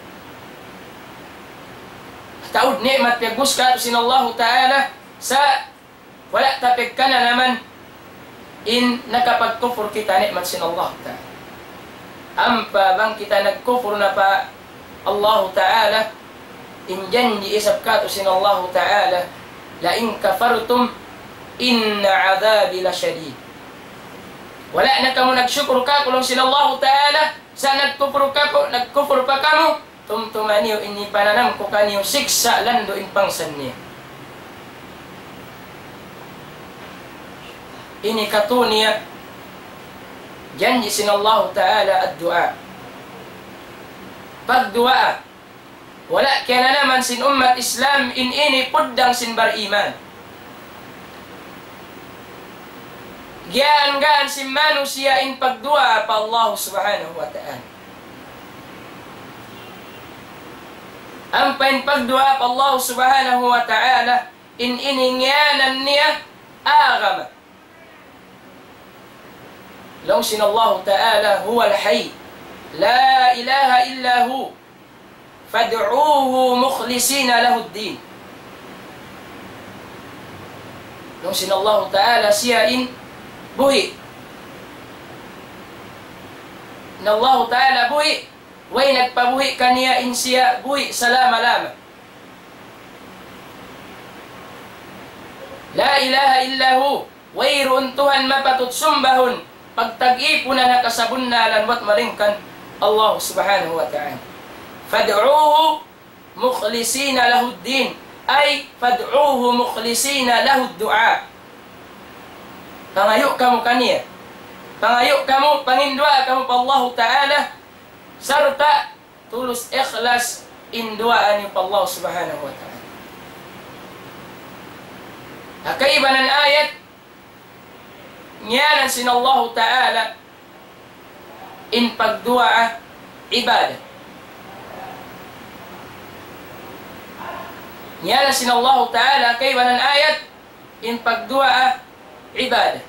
Taud ni'mat piyag'ubus katu' sin Allahu Ta'ala, sa' wala' ta pagkananaman in nakapagkufur kita ni'mat sin Allahu Ta'ala. Ampa bang kita nagkufur na pa Allahu Ta'ala, in janji' isab katu' sin Allahu Ta'ala, لئن كفرتم إن عذابي لشديد. Wala' na kamu nagsukur kāku', laung sin Allahu Ta'ala, sa' nagkufur kāku', nagkufur pa kamu, tumtuma niyu in hipananam ku kaniyu siksa' landu' in pangsan niya. Ini katu' niya janji' sin Allahu Ta'ala, الدعاء. Pagduwaa. Wala' kiyananaman sin ummat Islam in ini puddang sin bariman. Giyaan-gaan sin manusiya' in pagduwaa pa Allah Subhanahu wa Ta'ala. Ampa in pagduwaa pa Allah Subhanahu wa Ta'ala, in ini ngiyanan niya agama. Laung sin Allahu Ta'ala, هو الحي لا إله إلا هو فادعوه مخلصين له الدين. Laung sin Allahu Ta'ala, siya in buhi'. In Allahu Ta'ala buhi', way nagpabuhi' kaniya, in siya buhi' salama-lama. لا إله إلا هو, wayruun Tuhan mapatut sumbahun, pagtag-ipunan ha kasabunnalan buat malaingkan Allah Subhanahu wa Ta'ala. فادعوه مخلصين له الدين, ay فادعوه مخلصين له الدعاء. Pangayu' kamu kaniya. Pangayu' kamu, panginduwaa kamu pa Allahu Ta'ala, sarta' tulus ikhlas in duwaa niyu pa Allah Subhanahu wa Ta'ala. Ha kaibanan ayat, ngiyanan sin Allahu Ta'ala in pagduwaa ibadat. Ngiyanan sin Allahu Ta'ala ha kaibanan ayat in pagduwaa ibadat.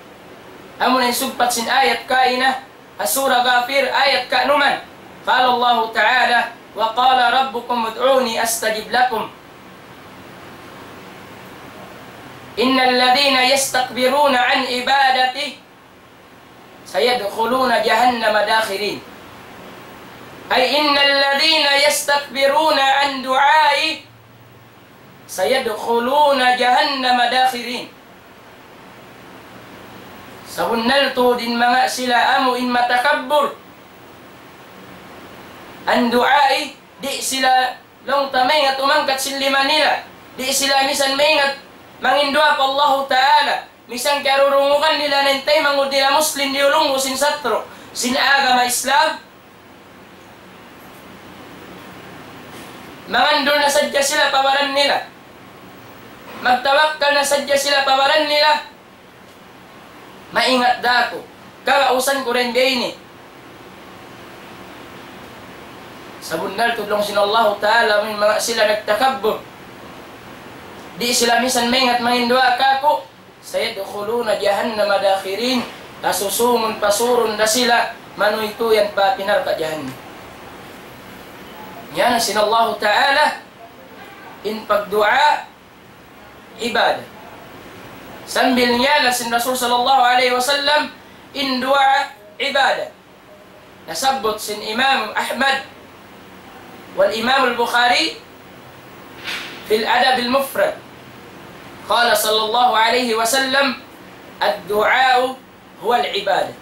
Amuna in sugpat sin ayat kaina, ha Surah Ghafir, ayat kanuman. قال الله تعالى: وقال ربكم ادعوني أستجب لكم. إن الذين يستكبرون عن عبادتي سيدخلون جهنم داخرين. أي إن الذين يستكبرون عن دعائي سيدخلون جهنم داخرين. Sabunnal tuud in manga sila amu in matakabbur. Andu'ai, di' sila laung ta maingat umangkat sin lima nila. Di' sila misan maingat manginduwaa pa Allahu Ta'ala. Misan kiyarurungugan nila na in taymanghud nila Muslim diyulungu sin satru' sin agama Islam. Mangandul na sadja sila pa baran nila. Magtawakkal na sadja sila pa baran nila. Maingat da aku. Kagausan ku dayn di ini. Sabunnal tuud laung sin Allahu Ta'ala, amu in manga sila nagtakabbur. Di' sila misan maingat manginduwaa kāku'. سيدخلون جهنم داخرين. Kasusungun pasurun da sila manuytuyan pa api narka' jahannam. Yan sin Allahu Ta'ala in pagduwaa ibadat. Sambil niya na sin Rasul sallallahu alayhi wasallam in duwaa ibadat. Nasabbut sin Imam Ahmad wal Imam al-Bukhari fil Adab al-Mufrad. قال صلى الله عليه وسلم: الدعاء هو العبادة.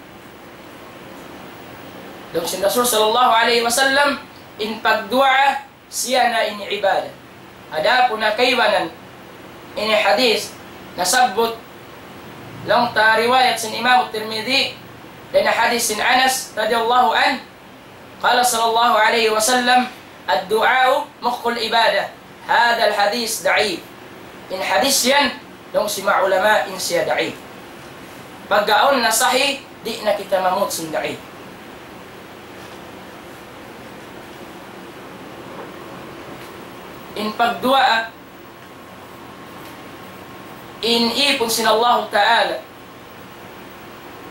Laung sin Rasul sallallahu alayhi wasallam, in pagduwaa siya na in ibadat. Adapun ha kaibanan, ini hadith nasabbut laung ta riwayat sin Imam Tirmidhi, dayn ha hadith sin Anas radiyallahu anhu, قال صلى الله عليه وسلم: الدعاء مخ العبادة. هذا الحديث ضعيف. In hadith yan, laung sin manga ulama, in siya da'if. Pagga awn na sahih, di' na kita mamut sin da'if. In pagduwaa, in ipun sin Allahu Ta'ala.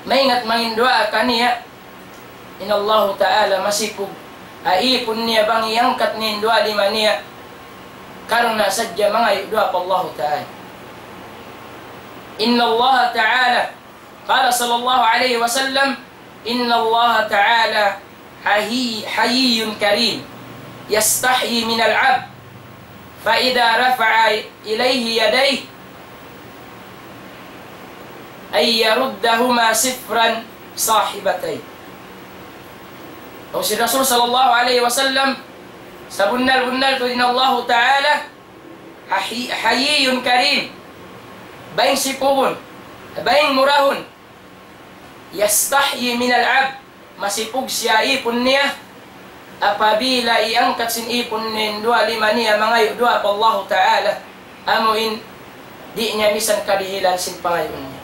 Maingat manginduwaa kaniya, in Allahu Ta'ala masipug ha ipun niya bang iyangkat niya in duwa lima niya. Karna' sadja mangayu' duwaa pa Allahu Ta'ala. إن الله تعالى قال صلى الله عليه وسلم: إن الله تعالى حيي، حيي كريم يستحيي من العبد فإذا رفع إليه يديه أن يردهما صفرا ساخطتين. Laung sin Rasul sallallahu alayhi wasallam, sabunnal-bunnal tuud in Allahu Ta'ala, حي-، حيي كريم. Baying sipugun, baying murahun. يستحيي من العبد. Masipug siya ipun niya. Apabila iyangkat sin ipun niya in duwa lima niya, mangayu' duwaa pa Allahu Ta'ala, amu in di' niya misan kadihilan sin pangayu' niya.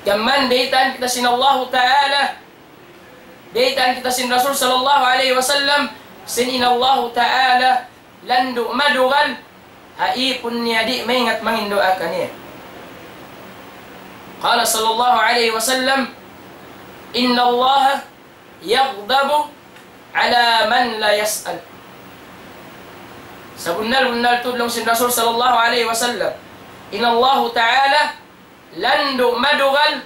Gam mayan baytaan kita sin Allahu Ta'ala, baytaan kita sin Rasul sallallahu alayhi wasallam, sin in Allahu Ta'ala landu' madugal ha ipun niya di' maingat manginduwaa kaniya. قال صلى الله عليه وسلم: إن الله يغضب على من لا يسأل. Sabunnal-bunnal tuud laung sin Rasul sallallahu alayhi wasallam, in Allahu Ta'ala landu' madugal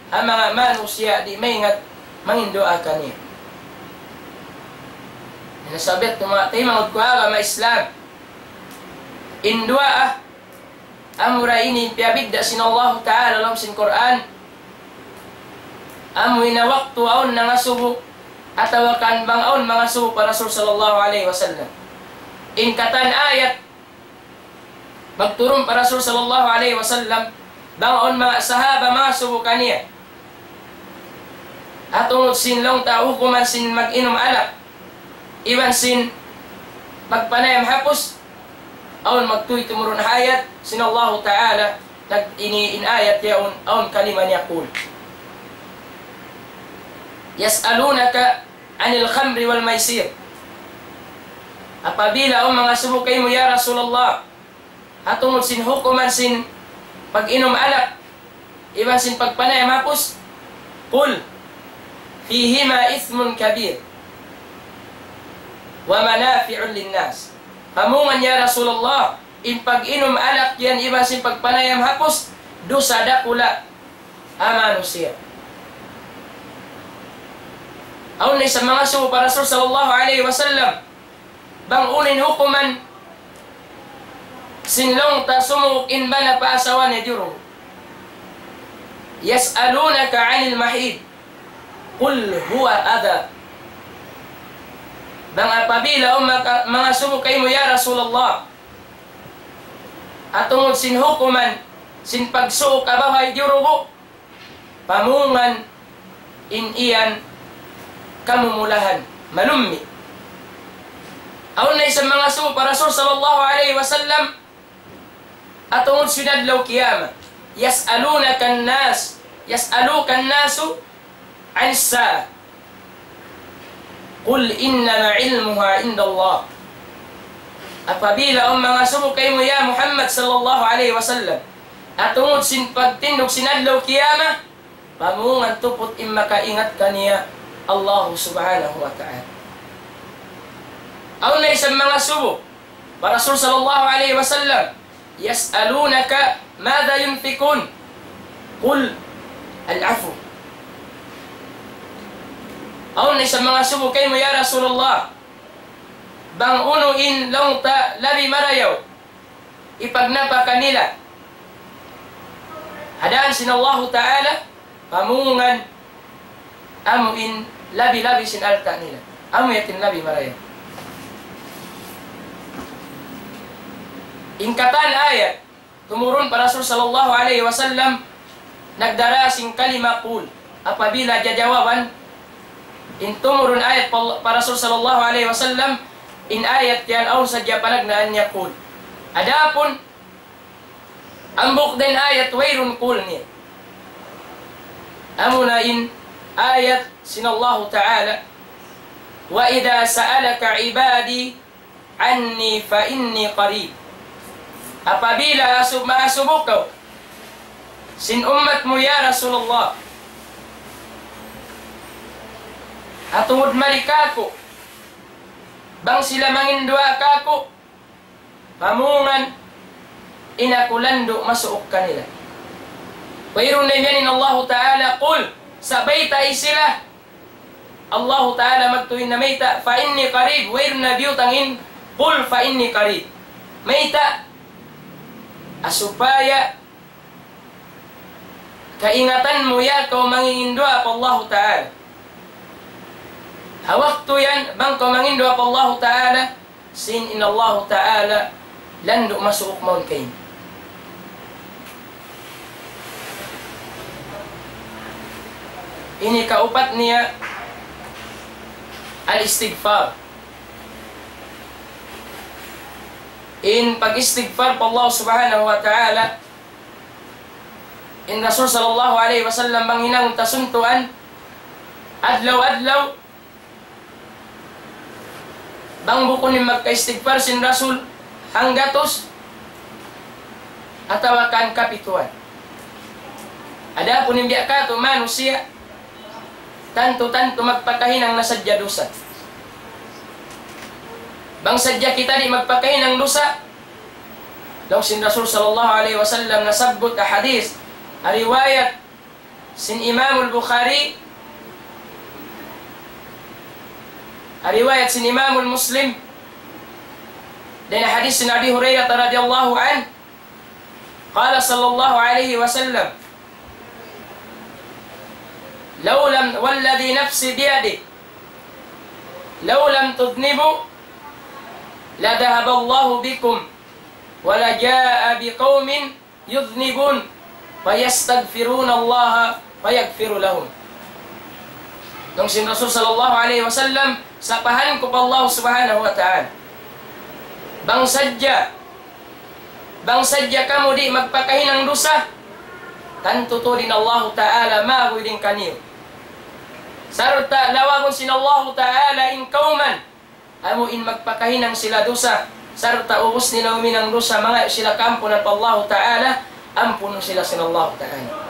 ha manga manusiya' di' maingat manginduwaa kaniya. Yan sabab tuud manga taymanghud ku ha agama Islam. In duwaa, amura ini piyabidda' sin Allahu Ta'ala ha lawm sin Qur'an. Amu in waktu awn nangasubu, atawa kan bang awn mangasubu pa Rasul sallallahu alayhi wasallam. In katan ayat magturun pa Rasul sallallahu alayhi wasallam, bang awn manga sahaba mangasubu kaniya. Ha tungud sin laung ta hukuman sin mag-inum alak, iban sin magpanayam hapus, awn magtuy tumurun ayat sin Allahu Ta'ala, nag-, ini in ayat yaun, awn kalima niya, قل يسألونك عن الخمر والميسر. Apabila awn mangasubu kaymu, ya Rasulullah, ha tungud sin hukuman sin pag-inum alak, iban sin pagpanayam hapus, قل فيهما إثم كبير ومنافع للناس. Pamungan, ya Rasulullah, in pag-inum alak yan iban sin pagpanayam hapus, dusa dakula' ha manusiya'. Awn na isab mangasubu pa Rasul sallallahu alayhi wasallam, Bang unu in hukuman sin laung ta sumuuk in bana pa asawa niya diyurugu. يسألونك عن المحيض قل هو أذى. Bang apabila awn maka-, mangasubu kaymu, ya Rasulullah, tungud sin hukuman sin pagsuuk ha babai diyurugu, pamungan in yan kamumulahan, malummi'. Awn na isab mangasubu pa Rasul sallallahu alayhi wasallam, tungud sin adlaw kiyamat. يسألونك الناس، يسألك الناس عن الساعة قل إنما علمها عند الله. Apabila awn mangasubu kaymu, ya Muhammad sallallahu alayhi wasallam, tungud sin pagtindug sin adlaw kiyamat, pamungan tuput in makaingat kaniya, Allah subhanahu wa ta'ala. Awn na isab mangasubu pa Rasul sallallahu alayhi wasallam, يسألونك ماذا ينفقون قل العفو. Awn na isab mangasubu kaymu, ya Rasulullah, bang unu in laung ta labi marayaw ipagnapaka nila ha dān sin Allahu Ta'ala, pamungan amu in labi-labi sin alta' nila. Amu yadtu in labi marayaw. In katan ayat tumurun pa Rasul sallallahu alayhi wasallam, nagdara sin kalima qul. Apabila jajawaban in tumurun ayat pa, pa Rasul sallallahu alayhi wasallam, in ayat yan awn sadja panagnaan niya qul. Adapun hambuuk da in ayat wayruun qul niya. Amuna in ayat sin Allahu Ta'ala, وإذا سألك عبادي عني فإني قريب. Apabila asubu, maasubu kaw sin ummat mu, ya Rasulullah, tungud mari kāku', bang sila manginduwaa kāku', pamungan in aku landu' masuuk kanila. Wayruun na imiyan in Allahu Ta'ala, qul, sa' baytai sila. Allahu Ta'ala magtuy na mayta', فإني قريب, wayruun na biyutang in قل فإني قريب. Mayta'? Supaya kaingatan mu ya kaw manginginduwaa pa Allahu Ta'ala. Ha waktu yan, bang kaw manginduwaa pa Allahu Ta'ala, sin in Allahu Ta'ala landu' masuuk mawn kaymu. Ini kaupat niya, al-istighfar. In pag-istighfar pa Allah Subhanahu wa Ta'ala, in Rasul sallallahu alayhi wasallam bang hinangun ta suntuan, adlaw-adlaw, bang bukun in magka-istighfar sin Rasul hanggatus atawa kan kapituan. Adapun in biya' katu' manusiya', tantu-tantu magpakahinang na sadja dusa. Bang sadja kita di' magpakahinang dusa, laung sin Rasul sallallahu alayhi wasallam nasabbut ha hadith, ha riwayat sin Imam al-Bukhari, ha riwayat sin Imam al-Muslim, dayn ha hadith sin Abi Hurairah radiyallahu anhu, قال صلى الله عليه وسلم: لو لم، والذي نفسي بيده، لو لم تذنبوا لذهب الله بكم ولجاء بقوم يذنبون فيستغفرون الله فيغفر لهم. Laung sin Rasul sallallahu alayhi wasallam, sapahan ku pa Allah Subhanahu wa Ta'ala, bang sadja, bang sadja kamu di' magpakahinang dusa, tantu tuud in Allahu Ta'ala maguy dayn kaniyu. Sarta' lawagun sin Allahu Ta'ala in kawman, amu in magpakahinang sila dusa, sarta' ubus nila huminang dusa, mangayu' sila kaampunan pa Allahu Ta'ala, ampunun sila sin Allahu Ta'ala.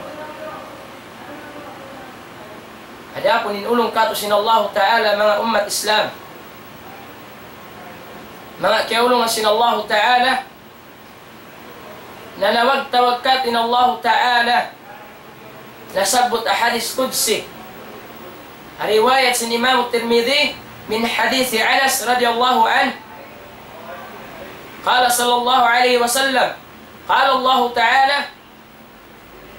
Adapun in ulung katu' sin Allahu Ta'ala, manga ummat Islam, manga kiyaulungan sin Allahu Ta'ala, nanawag-tawag katu' in Allahu Ta'ala, nasabbut ha hadith qudsi, riwayat sin Imam Tirmidhi, من حديث أنس رضي الله عنه, قال صلى الله عليه وسلم، قال الله تعالى: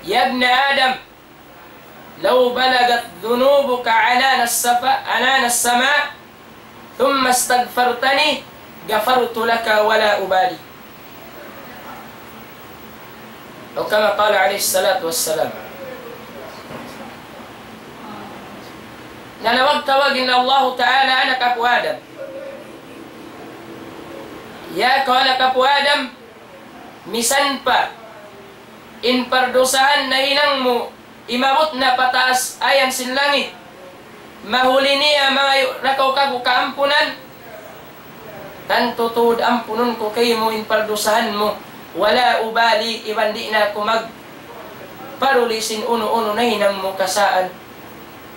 يا ابن آدم، لو بلغت ذنوبك عنان السفا-، عنان السماء، ثم استغفرتني غفرت لك ولا أبالي. أو كما قال عليه الصلاة والسلام. Nanawag-tawag in Allahu Ta'ala anak apu' Adam. Ya kaw anak apu' Adam, misan pa in pardusahan nahinang mu, imabut na pataas ayan sin langit, mahuli niya mangayu' na kaw kāku' kaampunan, tantu tuud ampunun ku kaymu in pardusahan mu. ولا أبالي, iban di' na aku magparuli sin unu-unu nahinang mu kasaan.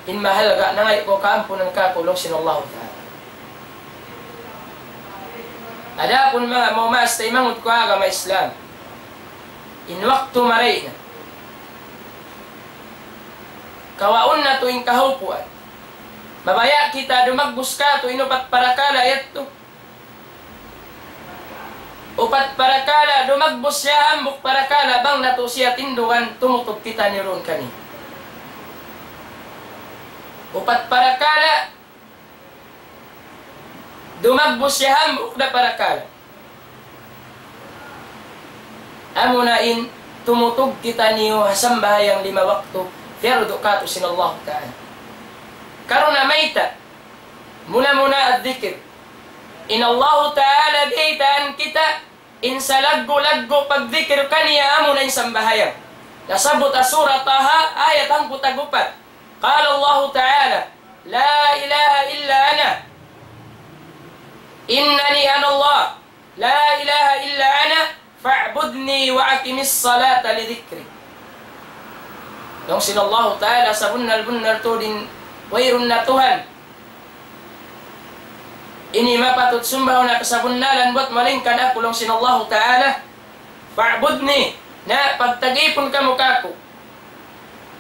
In mahalga' nangayu' kaw kaampunan kāku', laung sin Allahu Ta'ala. Adapun manga maumas taymanghud ku agama Islam, in waktu marayaw na. Kawaun natu' in kahaupuan. Mabaya' kita dumagbus kātu' in upat parakala' yadtu. Upat parakala' dumagbus siya, hambuuk parakala' bang natu' siya tindugan, tumutug kita niyu duun kaniya. Upat parakala' dumagbus siya, hambuuk da parakala'. Amuna in tumutug kitaniyu ha sambahayang lima waktu, piyardu kātu' sin Allahu Ta'ala. Karna' mayta'? Muna-muna ad-dhikr. In Allahu Ta'ala biyaytaan kita in salaggu'-laggu' pagdhikr kaniya amuna in sambahayang. Nasabbut ha Surah Taha, ayat hangpu' tag-upat. قال الله تعالى: لا إله إلا أنا، إنني أنا الله، لا إله إلا أنا فاعبدني وأقم الصلاة لذكري. Laung sin Allahu Ta'ala, sabunnal-bunnal tuud in wayruun na Tuhan ini mapatut sumbahun ha kasabunnalan buat malaingkan aku, laung sin Allahu Ta'ala. فاعبدني, na pagtag-ipun kamu kāku'.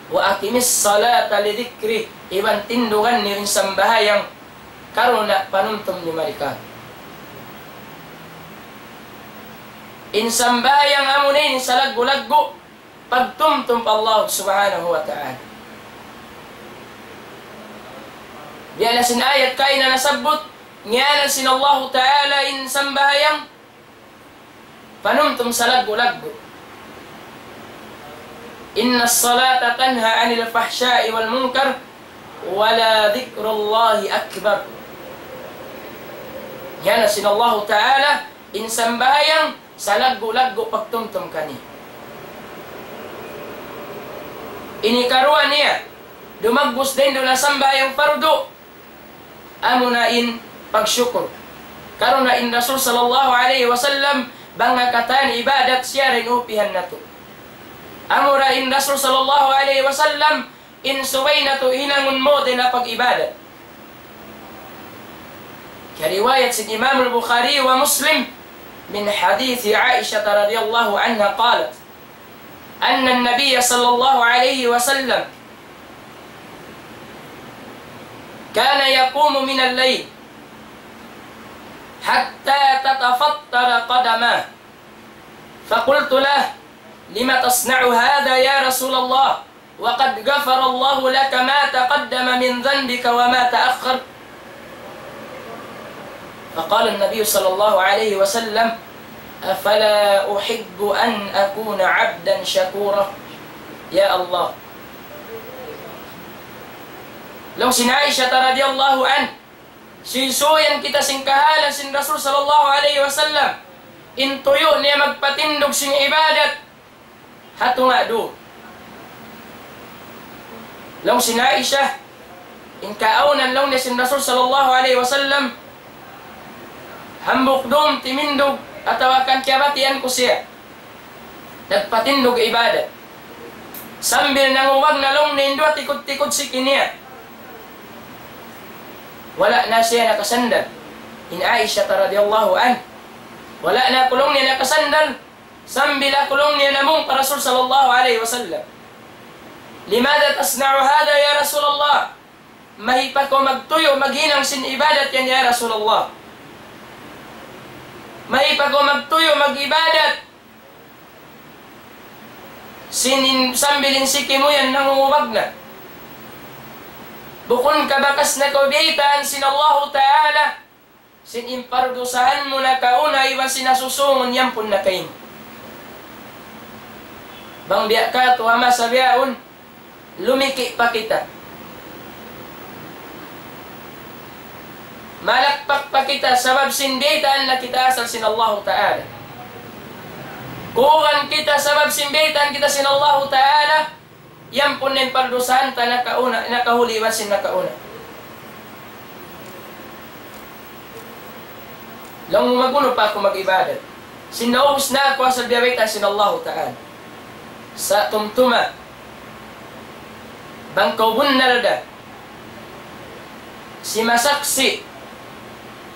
وأقم الصلاة لذكري, iban tindugan niyu in sambahayang karna' panumtum niyu mari kāku'. In sambahayang amuna in salaggu'-laggu' pagtumtum pa Allah Subhanahu wa Ta'ala. Biya' na sin ayat kaina nasabbut, ngiyanan sin Allahu Ta'ala in sambahayang panumtum salaggu'-laggu'. إن الصلاة تنهى عن الفحشاء والمنكر ولذكر الله أكبر. Ngiyanan sin Allahu Ta'ala in sambahayang salaggu'-laggu' pagtumtum kaniya. Ini karuwa niya, dumagbus dayn duun ha sambahayang fardu, amuna in pagsukur. Karna' in Rasul sallallahu alayhi wasallam, bang ha katan ibadat siya ra in upihan natu'. Amura in Rasul sallallahu alayhi wasallam, in subay natu' hinangun mawn dayn ha pag-ibadat. Kiyariwayat sin Imam al-Bukhari wa Muslim من حديث عائشة رضي الله عنها قالت: أن النبي صلى الله عليه وسلم كان يقوم من الليل حتى تتفطر قدماه، فقلت له: لم تصنع هذا يا رسول الله؟ وقد غفر الله لك ما تقدم من ذنبك وما تأخر. فقال النبي صلى الله عليه وسلم: أفلا أحب أن أكون عبدا شكورا؟ Ya Allah. Laung sin Aisha radiyallahu anha, suysuyan kita sin kahalan sin Rasul sallallahu alayhi wasallam, in tuyu' niya magpatindug sin ibadat ha tunga' duun. Laung sin Aisha, in kaawnan laung niya sin Rasul sallallahu alayhi wasallam, hambuuk dum timindug atawa kan kiyabatian ku siya nagpatindug ibadat. Sambil nangubag na laung niya in duwa tikud-tikud siki niya. Wala' na siya nakasandal. In Aisha radiyallahu anha. Wala' na aku laung niya nakasandal. Sambil aku laung niya namung pa Rasul sallallahu alayhi wasallam. لماذا تصنع هذا يا رسول الله؟ Mayta' kaw magtuyu', maghinang sin ibadat yan, ya Rasulullah? Mayta' pa kaw magtuyu' mag-ibadat sin in sambil in siki mu yan nangungubag na? Bukun ka bakas na kaw biyaytaan sin Allahu Ta'ala, sin in pardusahan mu nakauna iban sin nasusungun iyampun na kaymu. Bang biya' katu' ha masa bihaun, lumiki' pa kita. Malakpak pa kita sabab sin biyaytaan na kita asal sin Allahu Ta'ala. Kulang kita sabab sin biyaytaan kita sin Allahu Ta'ala, iyampun na in pardusahan ta nakauna, nakahuli iban sin nakauna. Laung mu, mag'unu pa aku mag-ibadat? Sin naubus na aku asal biyaytaan sin Allahu Ta'ala. Sa' tumtuma, bang kaw bunnal da simasaksi'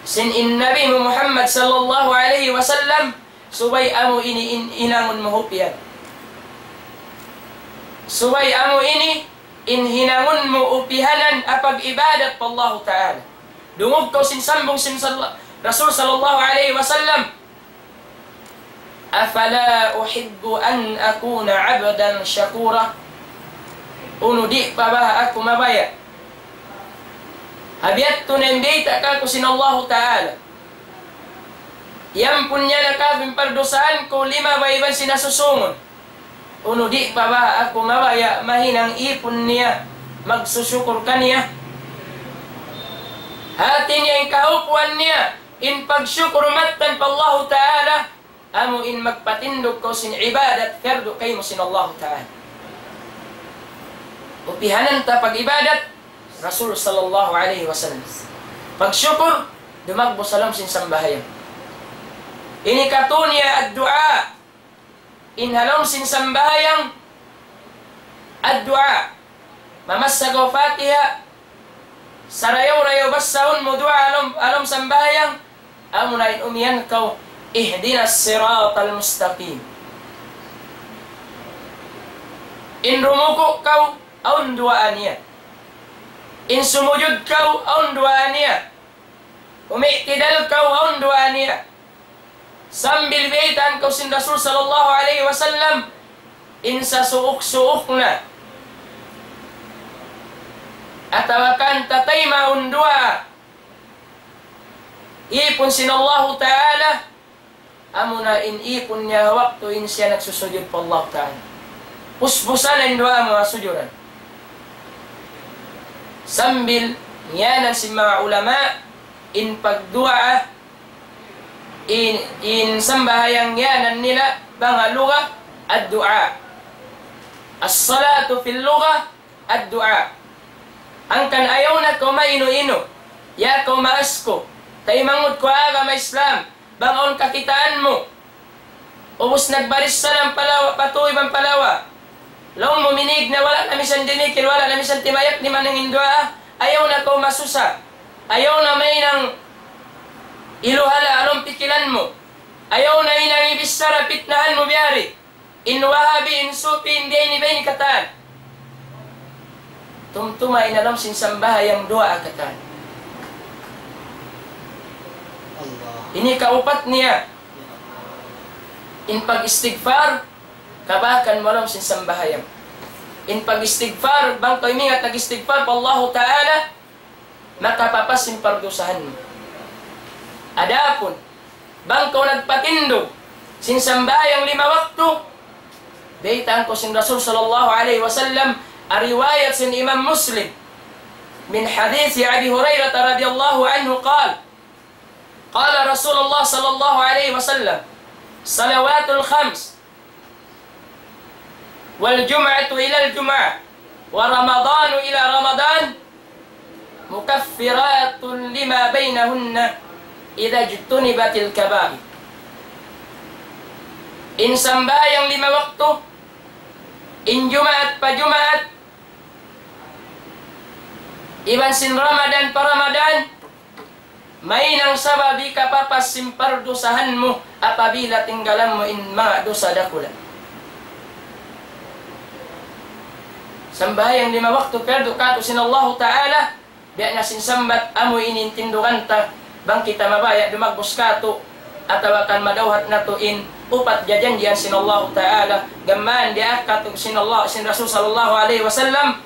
sin in Nabi mu Muhammad sallallahu alayhi wasallam, subay amu ini in hinangun mu upihan. Subay amu ini in hinangun mu upihanan ha pag-ibadat pa Allahu Ta'ala. Dungug kaw sin sambung sin sal-, Rasul sallallahu alayhi wasallam, أفلا أحب أن أكون عبدا شكورا؟ Unu di' pa baha' aku mabaya'? Ha biya' tu na in biyayta' kaku' sin Allahu Ta'ala, iyampun niya na kaku' in pardusahan ku limabay iban sin nasusungun. Unu di' pa baha' aku mabaya' mahinang ipun niya, magsusukur kaniya? Hati niya in kahupuan niya, in pagsukur mattan pa Allahu Ta'ala, amu in magpatindug kaw sin ibadat, fardu kaymu sin Allahu Ta'ala. Upihanan ta pag-ibadat, Rasul sallallahu alayhi wasallam. Pagsukur, dumagbus ha lawm sin sambahayang. Ini katu' niya ad-du'a. In ha lawm sin sambahayang, ad-du'a. Mamassa kaw Fatiha, sarayaw-rayaw basahun mu du'a ha lawm, ha lawm sambahayang, amuna in umiyan kaw, اهدنا الصراط المستقيم. In rumuku' kaw, awn duwaa niya. In sumujud kaw, awn duwaa niya. Umi'tidal kaw, awn duwaa niya. Sambil biyaytaan kaw sin Rasul sallallahu alayhi wasallam, in sasuuk-suuk na atawa kan tataymaun duwaa ipun sin Allahu Ta'ala, amuna in ipun niya waktu in siya nagsusujud pa Allahu Ta'ala. Puspusan in duwaa mu ha sujuran. Sambil ngiyanan sin manga ulama, in pagduwaa, in, in sambahayang ngiyanan nila, bang ha lugha, ad-du'a. الصلاة في اللغة الدعاء. Hangkan ayaw na kaw mainu-inu. Ya kaw maas ku. Taymanghud ku ha agama Islam. Bang awn kakitaan mu, ubus nagbaris salam pa lawa, pa tuu iban pa lawa. Laung mu minig na, wala' na misan dimikil, wala' na misan timayak, di' man in duwaa. Ayaw na kaw masusa. Ayaw na mahinang iluhala' ha lawm pikilan mu. Ayaw na hinang ibichara, pitnahan mu biya' di. In Wahabi, in Sufi, in biya' ini, biya' ini katan. Tumtuma in ha lawm sin sambahayang duwaa katan. Allah. Ini kaupat niya. In pag-istighfar, kabakan mu ha lawm sin sambahayang. In pag-istighfar, bang kaw umingat nag-istighfar pa Allahu Ta'ala, makapapas in pardusahan mu. Adapun, bang kaw nagpatindug sin sambahayang lima waktu, baytaan kaw sin Rasul sallallahu alayhi wasallam, ha riwayat sin Imam Muslim, من حديث أبي هريرة رضي الله عنه قال، قال رسول الله صلى الله عليه وسلم، الصلوات الخمس والجمعة إلى الجمعة ورمضان إلى رمضان مكفرات لما بينهن إذا اجتنبت الكبائر. In sambahayang lima waktu, in Jumaat pa Jumaat, iban sin Ramadan pa Ramadan, mahinang sabab hikapapas sin pardusahan mu apabila tinggalan mu in manga dusa dakula'. Sambahayang lima waktu pardu katu' sin Allahu Ta'ala, biya' na sin sambat amu ini in tindugan ta, bang kita mabaya' dumagbus katu', atawa kan madawhat natu' in upat jajanjian sin Allahu Ta'ala, gām mayan diyaak kātu' sin Allah, sin Rasul sallallahu alayhi wasallam,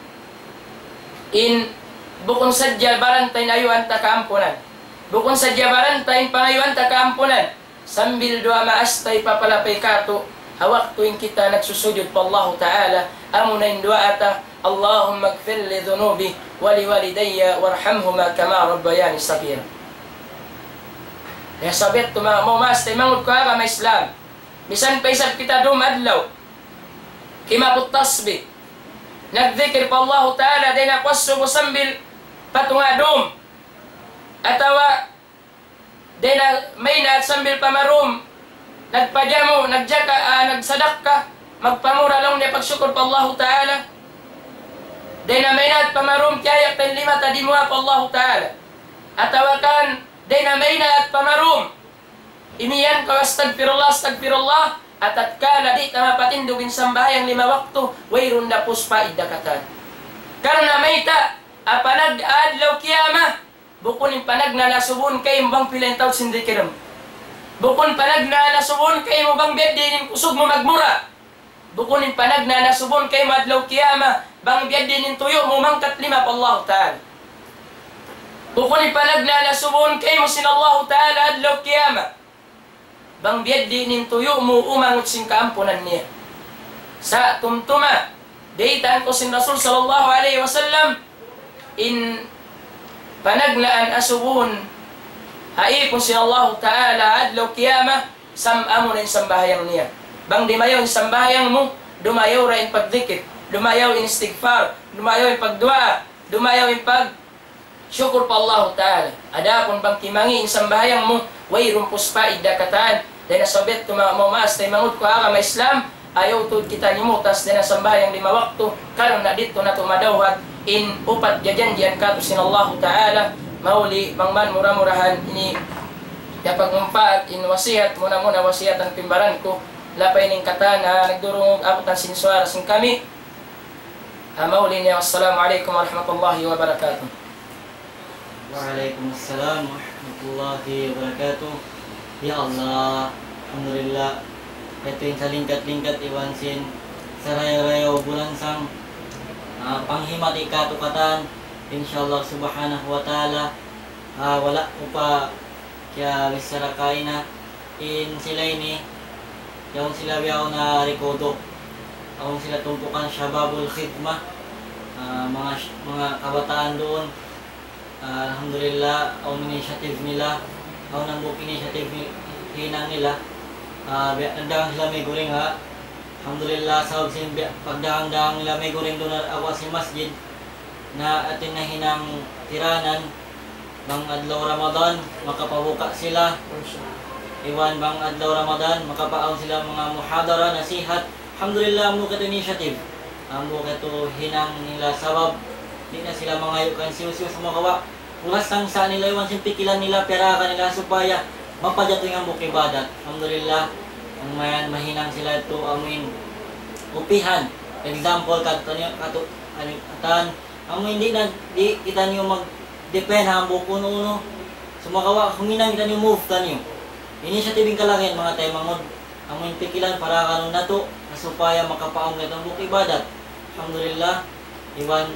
in bukun sadja baranta in ayuan ta kaampunan. Bukun sadja baranta in pangayuan ta kaampunan. Sambil duwaa maas ta hipapalapay kātu', ha waktu in kita nagsusujud pa Allahu Ta'ala, amuna in duwaa ta, اللهم اغفر لي ذنوبي ولوالدي وارحمهما كما ربياني صغيرا. Ya, sabab yadtu manga, manga maas taymanghud ku ha agama Islam. Misan pa isab kita dūm adlaw, kimabut tasbih, nagdikir pa Allahu Ta'ala, dayn ha kuwas subu sambil pa tunga' dūm, atawa dayn ha maynaat sambil pa marūm, nagpajamu, nagjaka, ah, nagsadakka, magpamura laung niya pagsukur pa Allahu Ta'ala. Dayn ha maynaat pa marūm, kiyayak ta in lima ta dimuwaa pa Allahu Ta'ala. Atawa kan, dayn ha maynaat pa marūm, imiyan kaw astagfirullah, astagfirullah, atatkala di' ta mapatindug in sambahayang lima waktu, wayruun da puspa idda katan. Karna' mayta', panag adlaw kiyamat, bukun in panagnaan asubuhun kaymu bang pila in taud sin dikir mu. Bukun panagnaan asubuhun kaymu bang biya' diin in kusug mu magmura. Bukun in panagnaan asubuhun kaymu adlaw kiyamat bang biya' diin in tuyu' mu mangkat lima pa Allahu Ta'ala. Bukun in panagnaan asubuhun kaymu sin Allahu Ta'ala adlaw kiyamat bang biya' diin in tuyu' mu umangut sin kaampunan niya. Sa' tumtuma, baytaan kaw sin Rasul sallallahu alayhi wasallam, in panagnaan asubuhun ha ipun sin Allahu Ta'ala adlaw kiyamat, sam-, amuna in sambahayang niya. Bang dimayaw in sambahayang mu, dumayaw ra in pagdikir, dumayaw in istighfar, dumayaw in pagduwaa, dumayaw in pag- sukur pa Allahu Ta'ala. Adapun bang timangi' in sambahayang mu, wayruun puspa idda katan. Dayn ha sabab yadtu manga, manga maas taymanghud ku ha agama Islam, ayaw tuud kita nimutas dayn ha sambahayang lima waktu, karna' didtu natu' madawhat in upat jajanjian kātu' sin Allahu Ta'ala. Mahuli bang man mura-murahan ini yapagmumpaat in wasihat, muna-muna wasihatan ku in baran ku, lapay in katan, ah, nagdurungug abutan sin suwara sin kami. Ah, mahuli niya, wassalamu alaykum warahmatullahi wabarakatuh. Wa alaykum assalam warahmatullahi wabarakatuh. Ya Allah, alhamdulillah. Yadtu in salingkat-lingkat iban sin sarayaw-rayaw bulansang, ah, panghimati kātu' katan, insya Allah subhanahu wa ta'ala, ah, wala' ku pa kiyabichara kaina, in sila ini, yaun sila bihaun ha Recodo. Awn sila tumpukan Shababul Khidmah, ah, manga, manga kabataan duun. Ah, alhamdulillah, awn initiative nila, awn hambuuk initiative ni-, hinang nila. Ah, biya' nagdagang sila miguring ha. Alhamdulillah, sabab sin biya' pagdagang-dagang nila miguring duun ha awa sin masjid, na atin nahinang tiranan, bang adlaw Ramadan, makapabuka sila. Iban bang adlaw Ramadan, makapaawn sila manga muhadara, nasihat. Alhamdulillah, hambuuk yadtu initiative. Hambuuk yadtu hinang nila sabab, di' na sila mangayu' kan hisiyu-siyu, sumagawa', pulas tangsa nila iban sin pikilan nila, piyaragan nila supaya mapajatu in hambuuk ibadat. Alhamdulillah, bang mayan mahinang sila yadtu, amuin upihan. Example, katu-, katu-, katan, amu in di' na, di' kitaniyu mag-depend ha hambuuk unu-unu. Sumagawa', huminang kitaniyu, move taniyu. Initiative in kalagihan, manga taymanghud. Amu in pikilan para kanun natu', supaya makapaawn kita hambuuk ibadat. Alhamdulillah, iban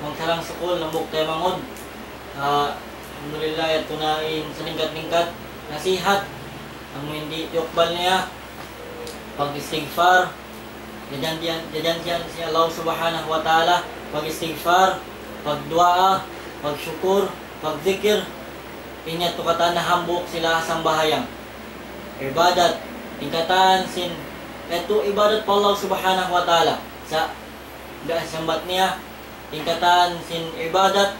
magsarang-sukul, hambuuk taymanghud. Ah, alhamdulillah, yadtu na in salingkat-lingkat nasihat. Amu in di' tiyukbal niya, pag-istighfar, jajanjian, jajanjian sin Allah Subhanahu wa Ta'ala, pag-istighfar, pagduwaa, pagsukur, pagdikir, in yadtu katan hambuuk sila sambahayang. Ibadat, in katan sin, yadtu ibadat pa Allah Subhanahu wa Ta'ala. Sa', da sambat niya, in katan sin ibadat,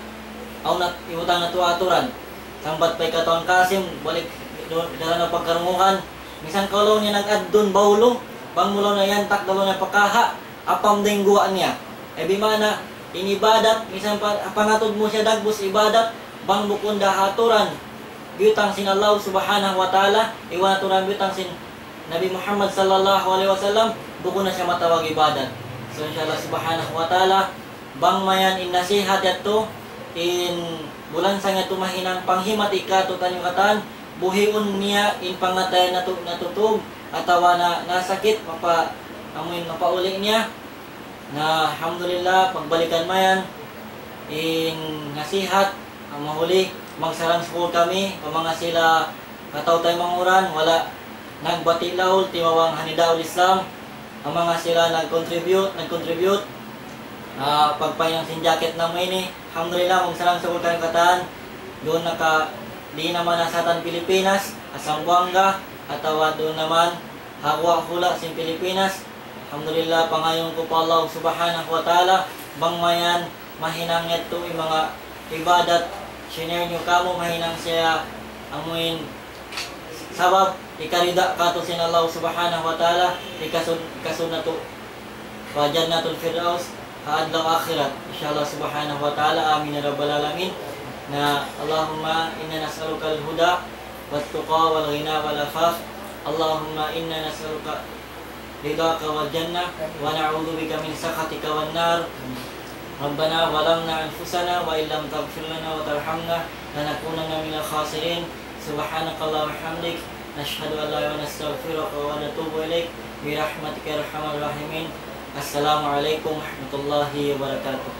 awn na ibutang natu' aturan. Sambat pa hi Katawan Kasim, balik, do-, daran na pagkarungugan. Misan kaw laung niya nag-addun bawlu, bang mu laung niya yantak da laung niya pa kaha, apam da in guwa' niya. Eh, bima'na, in ibadat, misan pa, pangatud mu siya dagbus ibadat, bang bukun da ha aturan biyutang sin Allah Subhanahu wa Ta'ala, iban aturan biyutang sin Nabi Muhammad sallallahu alayhi wasallam, bukun na siya matawag ibadat. So, insha Allah Subhanahu wa Ta'ala, bang mayan in nasihat yadtu, in bulansang yadtu mahinang panghimati katu'taniyu katan, buhiun niya in pangatayan natu', natutug, atawa na, nasakit, mapa-, amuin mapauli' niya. Na, alhamdulillah, pagbalikan mayan, in nasihat, amu mahuli, magsarang-sukul kami, pa manga sila kataw-taymanghuran, wala' nagbati' laul, timabang ha Nidaul Islam, pa manga sila nag-contribute, nag-contribute, ah, pagpahinang sin jacket namu' ini. Alhamdulillah, magsarang-sukul kami katan, duun na ka, di' na man ha satan Pilipinas, ha Zamboanga, atawa duun na man, ha hula'-hula' sin Pilipinas. Alhamdulillah, pangayuun ku pa Allah Subhanahu wa Ta'ala, bang mayan, mahinang yadtu in manga ibadat, shinare niyu kāmu', mahinang siya amuin sabab, hikarida katu' sin Allah Subhanahu wa Ta'ala, hikasud-, hikasud natu' pa Jannatul Firdaus, ha adlaw akhirat. Insha Allah Subhanahu wa Ta'ala, amin ya rabbal alamin. Na, اللهم إنا نسألك الهدى والتقى والغنى والعفاف. اللهم إنا نسألك رضاك والجنة ونعوذ بك من سخطك والنار. ربنا ظلمنا أنفسنا وإن لم تغفر لنا وترحمنا لنكونن من الخاسرين. سبحانك اللهم وبحمدك، نشهد أن لا إله إلا أنت، نستغفرك ونتوب إليك، برحمتك يا أرحم الراحمين. السلام عليكم ورحمة الله وبركاته.